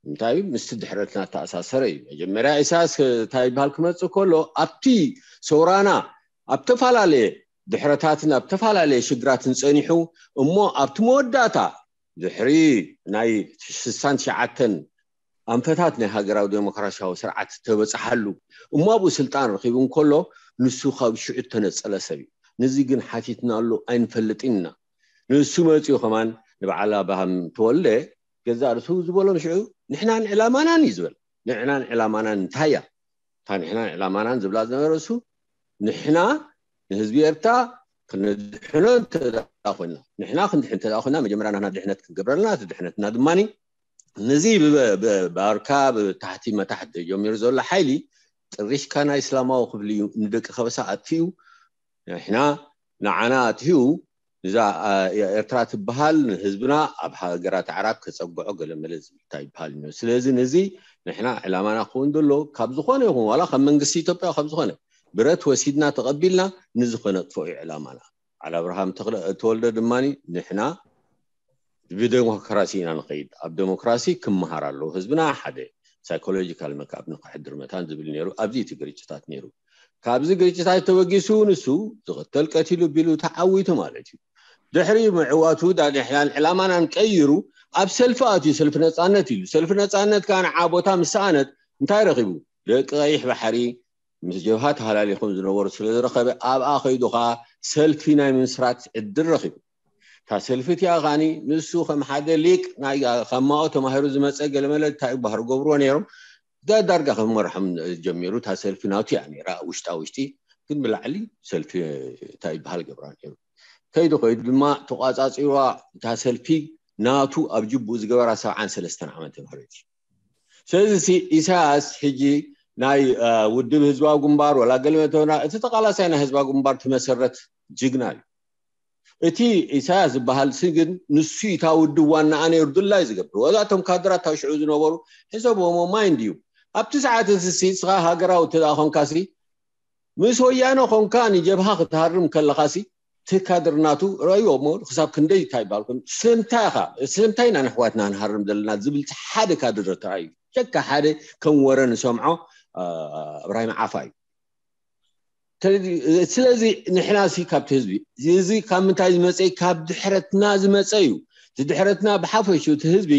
እንታይ ምስቲ ድሕረትና ተኣሳሰረ እዩ። መጀመርያ ኢሳያስ እንታይ ይበሃል ክመፅእ ከሎ ኣብቲ ሰውራና ኣብ ተፈላለየ ድሕረታትን ኣብ ተፈላለየ ሽግራትን ፀኒሑ እሞ ኣብቲ መወዳእታ ድሕሪ ናይ ስሳን ትሽዓተን ኣንፈታት ናይ ሃገራዊ ዴሞክራሲያዊ ስርዓት ተበፅሓሉ እሞ ኣብኡ ስልጣን ረኺቡ እንከሎ ንሱ ካብ ሽዑ እተነፀለ ሰብ እዩ። ነዚ ግን ሓቲትናሉ ኣይንፈልጥን ኢና። ንሱ መፂኡ ከማን ንበዓል ኣብርሃም ተወልደ ገዛእ ርእሱ ዝበሎም ሽዑ ንሕናን ዕላማናን እዩ ዝበል። ንሕናን ዕላማናን እንታይ እያ? እታ ንሕናን ዕላማናን ዝብላ ዝነበረ እሱ ንሕና ንህዝቢ ኤርትራ ክነድሕኖ እንተ ደኣ ኮይና፣ ንሕና ክንድሕን እንተ ደኣ ኮይና መጀመርያ ናህና ድሕነት ክንገብረልና እቲ ድሕነትና ድማ ነዚ ብባርካ ብታሕቲ መታሕት ጀሚሩ ዘሎ ሓይሊ ጥሪሽካ ናይ እስላማዊ ክፍሊ እዩ ንደቂ ከበሳ ኣጥፊኡ። ንሕና ንዓና ኣትዩ እዛ ኤርትራ ትበሃል ንህዝብና ኣብ ሃገራት ኣዕራብ ከፀግዖ ገለመለ ዝብልታ ይበሃል እዩ። ስለዚ ነዚ ንሕና ዕላማና ክኸውን ዘሎ ካብ ዝኾነ ይኹን ዋላ ካብ መንግስቲ ኢትዮጵያ ካብ ዝኾነ ብረት ወሲድና ተቐቢልና ንዚ ከነጥፍኦ እዩ ዕላማና። ዓል ኣብርሃም ተወልደ ድማ ንሕና ብዴሞክራሲ ኢና ንኸይድ፣ ኣብ ዴሞክራሲ ክመሃር ኣለዎ ህዝብና፣ ሓደ ሳይኮሎጂካል መክኣፕ ንክሕድር መታን ዝብል ነይሩ። ኣብዚ እቲ ግርጭታት ነይሩ። ካብዚ ግርጭታት ተበጊሱ ንሱ ዝቕተል ቀቲሉ ቢሉ ተዓዊቱ ማለት እዩ። ድሕሪ ምዕዋቱ ዳንሕላን ዕላማናን ቀይሩ ኣብ ሰልፊ ኣትዩ፣ ሰልፊ ነፃነት ኢሉ። ሰልፊ ነፃነት ከዓ ንዓ ቦታ ምስ ሰኣነት እንታይ ረኺቡ? ደቂ ቀይሕ ባሕሪ ምስ ጀብሃ ተሃላሊኾም ዝነበሩ ስለ ዝረኸበ ኣብኣ ከይዱ ከዓ ሰልፊ ናይ ምምስራት ዕድል ረኺቡ። እታ ሰልፊ እቲኣ ከዓኒ ንሱ ከም ሓደ ሊቅ ናይ ካብ ማኦ ተማሂሩ ዝመፀ ገለመለ እንታይ ባህር ገብርዎ ነይሮም ዳርጋ ከመርሖም ጀሚሩ። እታ ሰልፊ ናቱ እያ ነይራ ውሽጣ ውሽጢ፣ ግን ብላዕሊ ሰልፊ እንታይ ይበሃል ገብራ ነይሩ። ከይዱ ከይዱ ድማ ተቋፃፂዋ እታ ሰልፊ ናቱ ኣብ ጅቡኡ ዝገበራ ሰብዓን ሰለስተን ዓመተ ምህረት እዩ። ስለዚ ኢሳያስ ሕጂ ናይ ውድብ ህዝባዊ ግንባር ወላ ገለ መተና እቲ ተቃላሳይ ናይ ህዝባዊ ግንባር ትመሰረት ጅግና እዩ። እቲ ኢሳያስ ዝበሃል ሲ ግን ንሱ እታ ውድብ ዋናኣ ነይሩ ድላይ ዝገብር። ወዛቶም ካድራት ታሽዑ ዝነበሩ ሕሰቦሞ ማይንድ እዩ። ኣብቲ ሰዓት እዚ ሲ ንስኻ ሃገራዊ እተ ደኣ ኾንካ ሲ ምስ ወያነ ኾንካ ንጀብሃ ክትሃርም ከለኻ ሲ እቲ ካድር ናቱ ረእዮ እሞ ክሳብ ክንደይ እንታይ ባልኩም ስለምንታይ ኢኻ ስለምንታይ ኢና ንሕዋትና ንሃርም ዘለና ዝብል ሓደ ካድር ተራእዩ ሸካ ሓደ ከም ወረ ንሰምዖ እብራሂም ዓፋ እዩ። ስለዚ ንሕና ሲ ካብቲ ህዝቢ እዚ ካብ ምንታይ ዝመፀ ካብ ድሕረትና ዝመፀ እዩ። እቲ ድሕረትና ብሓፈሹ እቲ ህዝቢ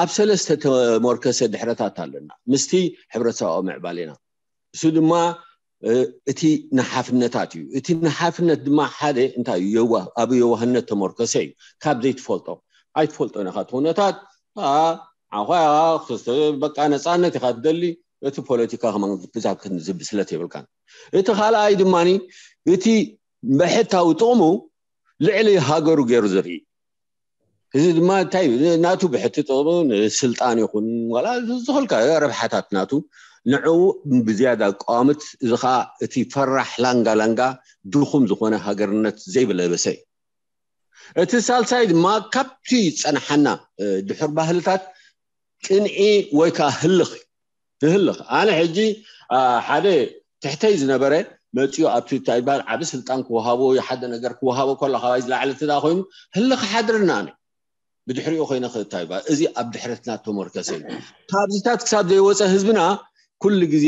ኣብ ሰለስተ ተሞርከሰ ድሕረታት ኣለና ምስቲ ሕብረተሰባዊ ምዕባሌና። እሱ ድማ እቲ ንሓፍነታት እዩ። እቲ ንሓፍነት ድማ ሓደ እንታይ እዩ ኣብ የዋህነት ተመርኮሰ እዩ። ካብ ዘይትፈልጦ ኣይትፈልጦ ነካ እቲ ኩነታት ዓኳ በቃ ነፃነት ኢካ ትደሊ እቲ ፖለቲካ ከማን ብዛብ ዝብስለት የብልካን። እቲ ካልኣይ ድማ እቲ ብሕታዊ ጥቕሙ ልዕሊ ሃገሩ ገይሩ ዝርኢ እዚ ድማ እንታይ ናቱ ብሕቲ ጥቕሙ ንስልጣን ይኹን ዋላ ዝኸልካ ረብሓታት ናቱ ንዕኡ ብዝያዳ ቋምት እዚ ከዓ እቲ ፈራሕ ላንጋ ላንጋ ድኹም ዝኾነ ሃገርነት ዘይብለበሰ እዩ። እቲ ሳልሳይ ድማ ካብቲ ዝፀንሓና ድሑር ባህልታት ቅንዒ ወይ ከዓ ህልኽ ትህልኽ ኣነ ሕጂ ሓደ ትሕተይ ዝነበረ መፅኡ ኣብቲ እንታይ ይበሃል ዓቢ ስልጣን ክወሃቦ ሓደ ነገር ክወሃቦ ከሎ ካባይ ዝለዓለ ትዳ ኮይኑ ህልኽ ሓድርና ነ ብድሕሪኡ ኮይነ ክእታ ይበሃል እዚ ኣብ ድሕረትና ተመርከሰ እዩ። ካብዚታት ክሳብ ዘይወፀ ህዝብና ኩሉ ግዜ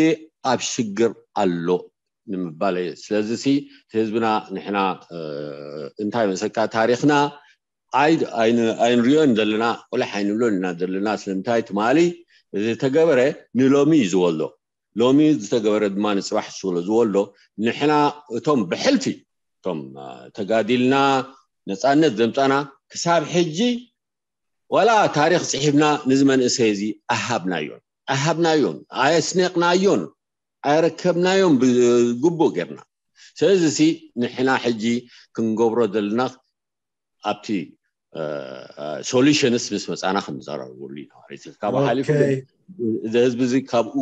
ኣብ ሽግር ኣሎ ንምባል እየ። ስለዚ ሲ ህዝብና ንሕና እንታይ መሰካ ታሪክና ኣይንሪኦን ዘለና ቁልሕ ኣይንብሎን ኢና ዘለና ስለምንታይ ትማሊ ዝተገበረ ንሎሚ እዩ ዝወሎ። ሎሚ ዝተገበረ ድማ ንፅባሕ ስለ ዝወሎ፣ ንሕና እቶም ብሕልፊ፣ እቶም ተጋዲልና ነፃነት ዘምፃና፣ ክሳብ ሕጂ ዋላ ታሪክ ፅሒፍና ንዚ መንእሰይ እዚ ኣሃብናዮን ኣሃብናዮን ኣየስነቅናዮን ኣረከብናዮም ብግቡእ ጌርና። ስለዚ ሲ ንሕና ሕጂ ክንገብሮ ዘለና ኣብቲ ሶሉሽንስ ምስ መፃና ክንዘራረበሉ ኢና ማለት እዩ። ካብኡ ሓሊፉ ግን እዚ ህዝቢ እዚ ካብኡ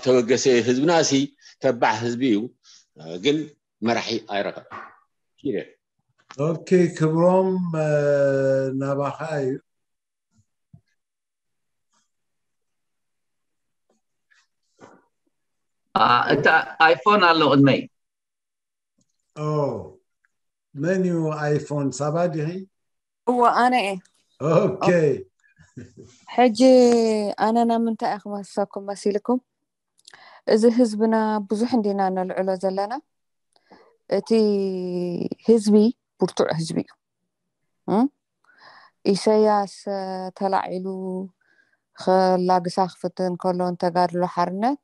ተበገሰ። ህዝብና ሲ ተባዕ ህዝቢ እዩ፣ ግን መራሒ ኣይረኸብ። ኦኬ፣ ክብሮም ናባኻ እዩ። እታ ኣይፎን ኣሎ ቅድመይ። መን እዩ ኣይፎን? ሳባ ዲኺ? እዎ፣ ኣነ እየ። ኦኬ። ሕጂ ኣነ ናብ ምንታይ እየ ክመልሰኩም መሲልኩም? እዚ ህዝብና ብዙሕ እንዲና ነልዕሎ ዘለና። እቲ ህዝቢ ብርቱዕ ህዝቢ እዩ። እም? ኢሰያስ ተላዒሉ ከላግሳ ክፍትን ከሎ ንተጋድሎ ሓርነት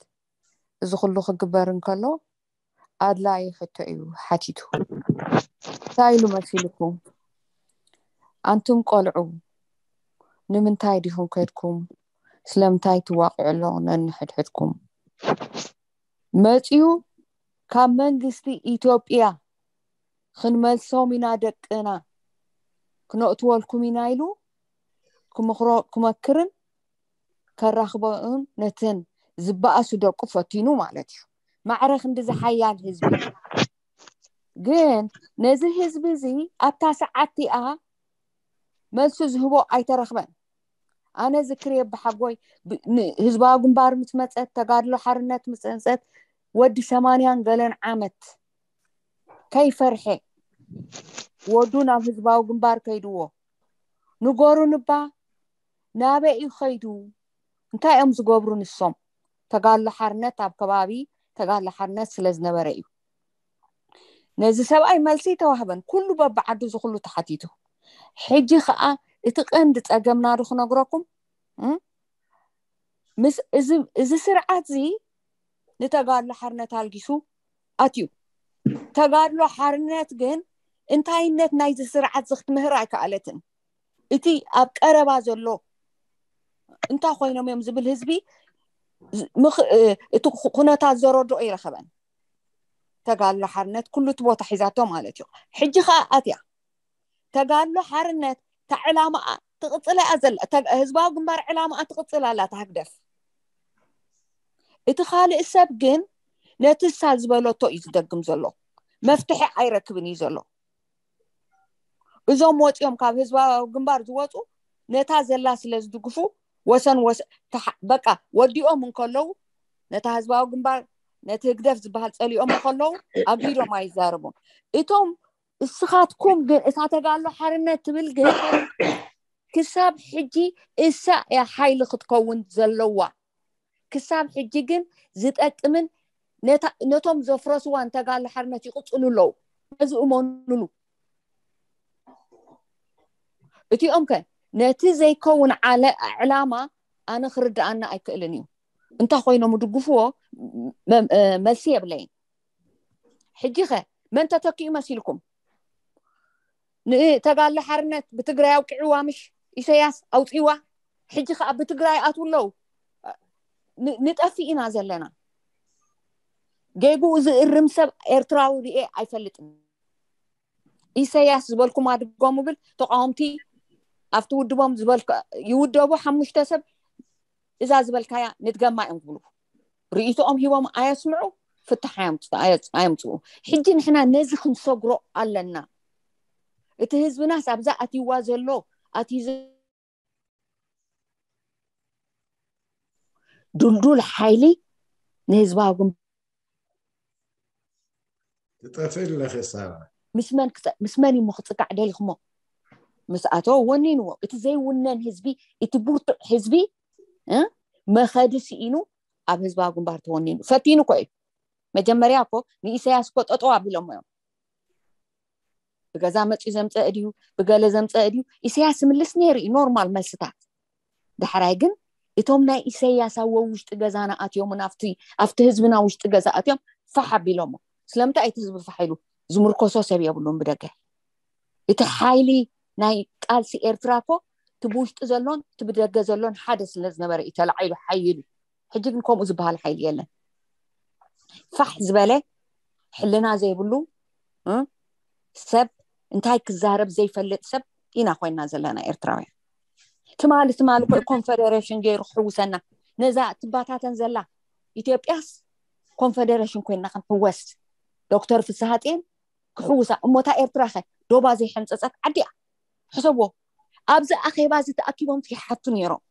እዚ ኩሉ ክግበር እንከሎ ኣድላዪ ሕቶ እዩ ሓቲቱ። እንታይ ኢሉ መሲልኩም? ኣንቱም ቆልዑ ንምንታይ ዲኹም ከድኩም? ስለምንታይ ትዋቕዑ ኣለኹ ነንሕድሕድኩም? መፂኡ ካብ መንግስቲ ኢትዮጵያ ክንመልሶም ኢና ደቅና፣ ክነእትወልኩም ኢና ኢሉ ክመክርን ከራኽቦም ነተን ዝበኣሱ ደቁ ፈቲኑ ማለት እዩ። ማዕረ ክንዲ ዝሓያል ህዝቢ ግን ነዚ ህዝቢ እዚ ኣብታ ሰዓት እቲኣ መልሱ ዝህቦ ኣይተረኽበን። ኣነ ዝክርየ ብሓጎይ ህዝባዊ ግንባር ምስ መፀት፣ ተጋድሎ ሓርነት ምስ መፀት፣ ወዲ ሰማንያን ገለን ዓመት ከይፈርሐ ወዱ ናብ ህዝባዊ ግንባር ከይድዎ ንገሩኒ እባ ናበይ እዩ ከይዱ? እንታይ እዮም ዝገብሩ ንሶም? ተጋድሎ ሓርነት ኣብ ከባቢ ተጋድሎ ሓርነት ስለ ዝነበረ እዩ። ነዚ ሰብኣይ መልሲ ተዋህበን፣ ኩሉ በብዓዱ እዚ ኩሉ ተሓቲቱ። ሕጂ ከዓ እቲ ቀንዲ ፀገምና ዶ ክነግረኩም፣ እዚ ስርዓት እዚ ንተጋድሎ ሓርነት ኣልጊሱ ኣትዩ። ተጋድሎ ሓርነት ግን እንታይነት ናይዚ ስርዓት እዚ ክትምህር ኣይከኣለትን። እቲ ኣብ ቀረባ ዘሎ እንታይ ኮይኖም እዮም ዝብል ህዝቢ እቲ ኩነታት ዘረድኦ ይረኸበን። ተጋድሎ ሓርነት ኩሉ እቲ ቦታ ሒዛቶ ማለት እዩ። ሕጂ ከዓ ኣትያ ተጋድሎ ሓርነት እታ ዕላማኣ ትቕፅል እያ ዘላ። ህዝባዊ ግንባር ዕላማኣ ትቕፅል ኣላ እታ ህግደፍ። እቲ ካልእ ሰብ ግን ነቲ እሳ ዝበለቶ እዩ ዝደግም ዘሎ። መፍትሒ ኣይረክብን እዩ ዘሎ። እዞም ወፂኦም ካብ ህዝባዊ ግንባር ዝወፁ ነታ ዘላ ስለ ዝድግፉ ወሰን ወሰ በቃ ወዲኦም እንከለዉ ነታ ህዝባዊ ግንባር ነቲ ህግደፍ ዝበሃል ፀሊኦም እንከለዉ ኣግሂዶም ኣይዛረቡን። እቶም እስኻትኩም ግን እታ ተጋድሎ ሓርነት ትብል ግን ክሳብ ሕጂ እሳ እያ ሓይሊ ክትከውን ዘለዋ። ክሳብ ሕጂ ግን ዝጠቅምን ነቶም ዘፍረስዋ ንተጋድሎ ሓርነት ይቕፅሉ ኣለዉ። ነዚ እመኑሉ። እቲኦም ከ ነቲ ዘይከውን ዓለ ዕላማ ኣነ ክርድኣና ኣይክእልን እዩ። እንታይ ኮይኖም ድግፍዎ? መልሲ የብለይን። ሕጂ ከ መን ተተኪኡ መሲልኩም? ንተጋድሎ ሓርነት ብትግራይ ኣውቂዕዋ ምሽ ኢሰያስ ኣውፂዋ። ሕጂ ከዓ ብትግራይ ኣትዉ ኣለዉ። ንጠፊእ ኢና ዘለና። ጌግኡ ዝእርም ሰብ ኤርትራዊ ርኤ ኣይፈልጥን። ኢሰያስ ዝበልኩም ኣድጎም ብል ተቃወምቲ ኣብቲ ውድቦም ዝበልካ ይውደቡ። ሓሙሽተ ሰብ እዛ ዝበልካያ ንድገማ እዮም ዝብሉ። ርእይቶኦም ሂቦም ኣየስምዑ፣ ፍታሕ ኣየምፅኡ። ሕጂ ንሕና ነዚ ክንሰግሮ ኣለና። እቲ ህዝብናስ ኣብዛ ኣትይዋ ዘሎ ኣትዩ ድልዱል ሓይሊ ንህዝባዊ ግንባር ትጠፍእ ኣለኺ ሳባ። ምስ መን ክፀ- ምስ መን እዩ ክፅጋዕ ደሊኹሞ? ምስ ኣቶ ወኒንዎ። እቲ ዘይውነን ህዝቢ፣ እቲ ብርቱዕ ህዝቢ እ መኸዲ ስኢኑ ኣብ ህዝባዊ ግንባር ተወኒኑ ፈቲኑ እኮ እዩ። መጀመርያ እኮ ንኢሳያስ እኮ ጠጠው ኣቢሎሞ እዮም። ብገዛ መፅዩ ዘምፀአ ድዩ ብገለ ዘምፀአ ድዩ? ኢሳያስ ይምልስ ነይሩ እዩ ኖርማል መልስታት። ዳሕራይ ግን እቶም ናይ ኢሰያስ ኣብ ውሽጢ ገዛና ኣትዮምን ኣብቲ ኣብቲ ህዝብና ውሽጢ ገዛ ኣትዮም ፋሕ ኣቢሎሞ። ስለምንታይ እቲ ህዝቢ ፋሕ ኢሉ ዝምርኮሶ ሰብ የብሉን ብደገ። እቲ ሓይሊ ናይ ቃልሲ ኤርትራ እኮ እቲ ብውሽጢ ዘሎን እቲ ብደገ ዘሎን ሓደ ስለ ዝነበረ እዩ ተላዒሉ ሓይሉ። ሕጂ ግን ከምኡ ዝበሃል ሓይሊ የለን። ፋሕ ዝበለ ሕልና ዘይብሉ እ፣ ሰብ እንታይ ክዛረብ ዘይፈልጥ ሰብ ኢና ኮይና ዘለና ኤርትራውያን። ትማሊ ትማሊ ኮ ኮንፈደሬሽን ገይሩ ክሕውሰና ነዛ ትባታተን ዘላ ኢትዮጵያስ ኮንፈደሬሽን ኮይና ክንሕወስ ዶክተር ፍስሃ ጽዮን ክሕውሳ እሞታ ኤርትራ ኸ ዶባ ዘይሐንጸጸት ዓዲ እያ። ሕሰቦ ኣብዚ ኣኼባ እዚ ተኣኪቦም ይሓቱ ነይሮም።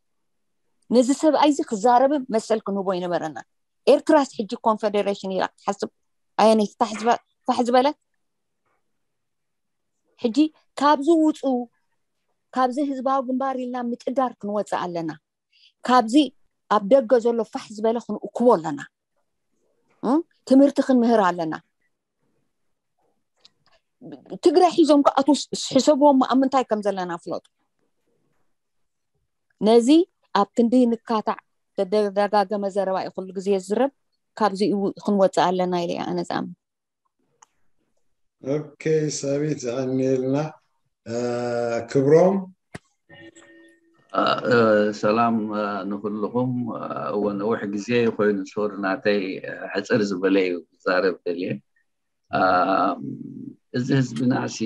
ነዚ ሰብኣይ እዚ ክዛረብ መሰል ክንህቦ ይነበረና። ኤርትራስ ሕጂ ኮንፈደሬሽን ኢላ ክትሓስብ ኣየነይቲ ፋሕ ዝበ- ፋሕ ዝበለት? ሕጂ ካብዚ ውፁ፣ ካብዚ ህዝባዊ ግንባር ኢልና ምጭዳር ክንወፅእ ኣለና። ካብዚ ኣብ ደገ ዘሎ ፋሕ ዝበለ ክንእክቦ ኣለና። እ? ትምህርቲ ክንምህር ኣለና። ትግራይ ሒዞም ክኣትዉ ሕሰብዎም ኣብ ምንታይ ከም ዘለና ፍለጡ። ነዚ ኣብ ክንዲ ንካታዕ ተደጋጋመ ዘረባ እዩ ኩሉ ግዜ ዝዝረብ። ካብዚኡ ክንወፅእ ኣለና ኢለ እየ ኣነ ዝኣምን። ኦኬ፣ ሳቢት ዝኣንየልና ክብሮም። ሰላም ንኩልኹም። እወ ነዊሕ ግዜ ኮይኑ ሶሪ ናተይ ሕፅር ዝበለ እዩ ክዛረብ ደልየ። እዚ ህዝብና ሲ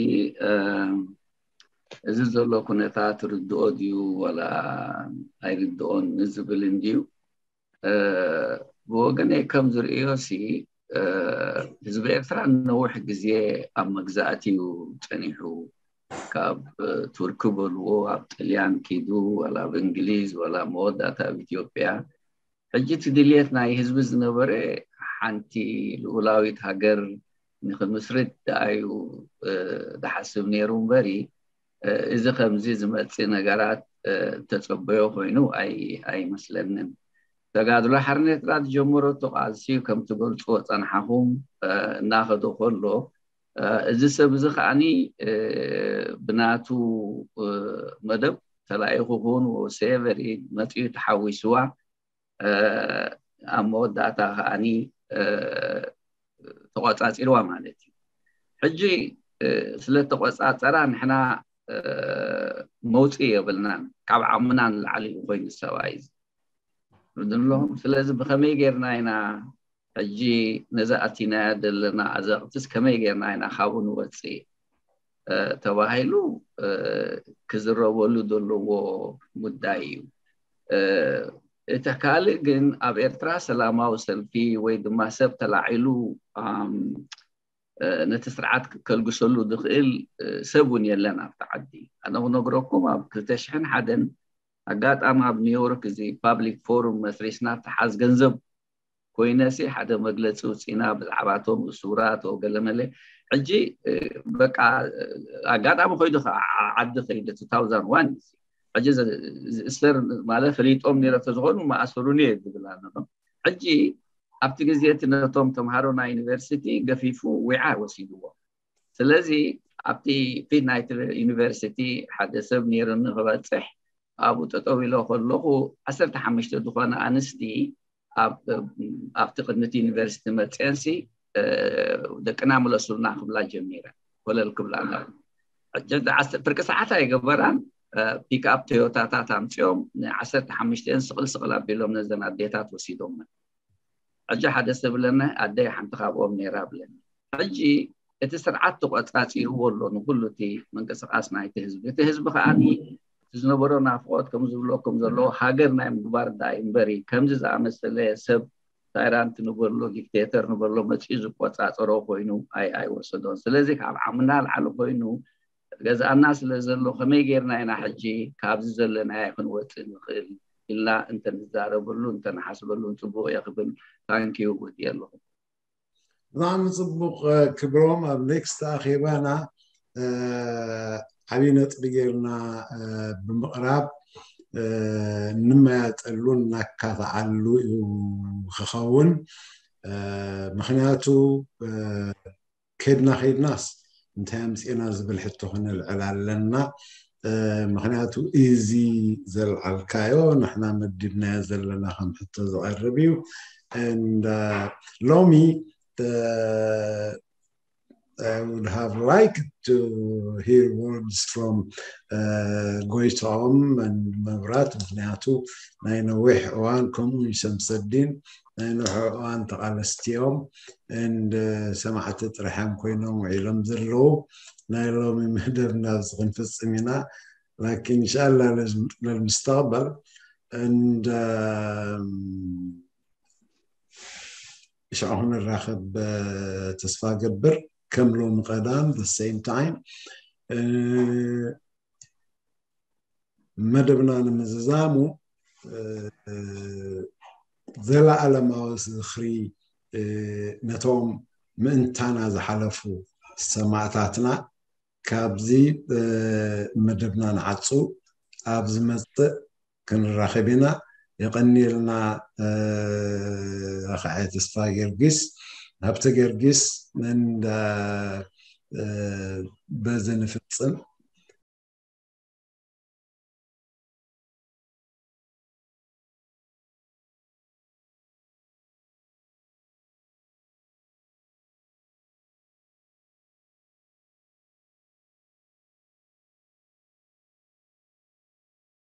እዚ ዘሎ ኩነታት ርድኦ ድዩ ወላ ኣይርድኦን ንዝብል እንድዩ። ብወገነይ ከም ዝርእዮ ሲ ህዝቢ ኤርትራ ነዊሕ ግዜ ኣብ መግዛእቲ እዩ ጸኒሑ። ካብ ቱርኪ በልዎ ኣብ ጥልያን ኪዱ ወላ ኣብ እንግሊዝ ወላ መወዳእታ ኣብ ኢትዮጵያ። ሕጂ እቲ ድልየት ናይ ህዝቢ ዝነበረ ሓንቲ ልኡላዊት ሃገር ንክምስርት ደኣዩ ዝሓስብ ነይሩ እምበሪ እዚ ከምዚ ዝመፅእ ነገራት ተፀበዮ ኮይኑ ኣይመስለንን። ተጋድሎ ሓርነት ኤርትራ ዝጀመረቶ ቃልሲ ከም ትገልፅዎ ፀናሓኹም እናኸዶ ከሎ እዚ ሰብ እዚ ከዓኒ ብናቱ መደብ ተላኢኹ ክውን ወሰቨሪ መፅኡ ተሓዊስዋ ኣብ መወዳእታ ከዓኒ ተቆፃፂርዋ ማለት እዩ። ሕጂ ስለ ተቆፃፀራ ንሕና መውፅኢ የብልናን፣ ካብ ዓቕምና ንላዕሊ እዩ ኮይኑ ሰብኣይ እዚ ርድንለኹም። ስለዚ ብኸመይ ጌርና ኢና ሕጂ ነዛ ኣቲናያ ዘለና ኣዘቕትስ ከመይ ጌርና ኢና ካብኡ ንወፅእ ተባሂሉ ክዝረበሉ ዘለዎ ጉዳይ እዩ። እቲ ካልእ ግን ኣብ ኤርትራ ሰላማዊ ሰልፊ ወይ ድማ ሰብ ተላዒሉ ነቲ ስርዓት ከልግሰሉ ዝኽእል ሰብ እውን የለን ኣብቲ ዓዲ። ኣነ ክነግረኩም ኣብ ክልተ ሽሕን ሓደን ኣጋጣሚ ኣብ ኒውዮርክ እዚ ፓብሊክ ፎሩም መስሪስና ተሓዝ ገንዘብ ኮይነሲ ሓደ መግለፂ ውፅኢና ብዛዕባቶም እሱራት ወገለመለ። ሕጂ በቃ ኣጋጣሚ ኮይዱ ዓዲ ከይደ two thousand one ሕጂ እሰር ማለት ፈሊጦም ነረ ተዝኾኑ መኣሰሩኒ እየ ዝብል ኣለኹ። ሕጂ ኣብቲ ግዜ እቲ ነቶም ተምሃሮ ናይ ዩኒቨርሲቲ ገፊፉ ዊዓ ወሲድዎ። ስለዚ ኣብቲ ፊት ናይቲ ዩኒቨርሲቲ ሓደ ሰብ ነይሩኒ ክበፅሕ ኣብኡ ጠጠው ኢሎ ከለኹ ዓሰርተ ሓሙሽተ ዝኾነ ኣንስቲ ኣብቲ ቅድሚቲ ዩኒቨርሲቲ መፅአንሲ ደቅና ምለሱልና ክብላ ጀሚረ ኮለል ክብላ ፍርቂ ሰዓት ኣይገበራን ፒክኣፕ ቶዮታታት ኣምፅኦም ንዓሰርተ ሓሙሽተን ስቕል ስቕል ኣቢሎም ነዘን ኣዴታት ወሲዶመን። ሕጂ ሓደ ሰብ ብለና ኣደይ ሓንቲ ካብኦም ነይራ ብለኒ። ሕጂ እቲ ስርዓት ተቆፃፂርዎ ኣሎ ንኩሉ እቲ ምንቅስቃስ ናይቲ ህዝቢ። እቲ ህዝቢ ከዓ እቲ ዝነበሮ ናፍቆት ከም ዝብለኩም ዘሎ ሃገር ናይ ምግባር ዳይ እምበሪ ከምዚ ዝኣመሰለ ሰብ ታይራንት ንበሎ ዲክቴተር ንበሎ መፅኡ ዝቆፃፀሮ ኮይኑ ኣይወሰዶን። ስለዚ ካብ ዓምና ላዕሊ ኮይኑ ገዛእና ስለ ዘሎ ከመይ ጌርና ኢና ሕጂ ካብዚ ዘለናዮ ክንወፅእ ንኽእል ኢልና እንተንዛረበሉ እንተንሓስበሉ ፅቡቅ እየ ክብል ታንኪዩ ወዲ ኣለኹ። ብጣዕሚ ፅቡቅ ክብሮም። ኣብ ኔክስት ኣኼባና ዓብዪ ነጥቢ ጌርና ብምቕራብ እንመያጠሉ እናካታዓሉ እዩ ክኸውን። ምክንያቱ ከድና ከድናስ እንታይ ኣምፅእና ዝብል ሕቶ ክነልዕል ኣለና። ምክንያቱ እዚ ዘልዓልካዮ ንሕና መዲብናዮ ዘለና ከም ሕቶ ዝቐርብ እዩ። And ሎሚ I would have liked to hear words from ጎይትኦም መብራት፣ ምክንያቱ ናይ ነዊሕ እዋን ከምኡ ሸምሰዲን ናይ ነዊሕ እዋን ተቓለስቲ እዮም። And ሰማዕቲ ጥራሕም ኮይኖም ውዒሎም ዘለዉ ናይ ሎሚ መደብና ኣብዚ ክንፍጽም ኢና። ላኪን እንሻላ ለልምስተቕበል እንደ ሽዑ ክንራኸብ ተስፋ ገብር። ከም ሎሚ ቀዳም the same time መደብና ንምዝዛሙ ዘለኣለማዊ ዝኽሪ ነቶም ምእንታና ዝሓለፉ ሰማእታትና ካብዚ መደብና ንዓጹ። ኣብ ዝመጽእ ክንራኸብ ኢና። የቐንየልና። ኣኸዐ ተስፋ ጊዮርጊስ፣ ሃብተ ጊዮርጊስ እንዳ በዚ ንፍጽም።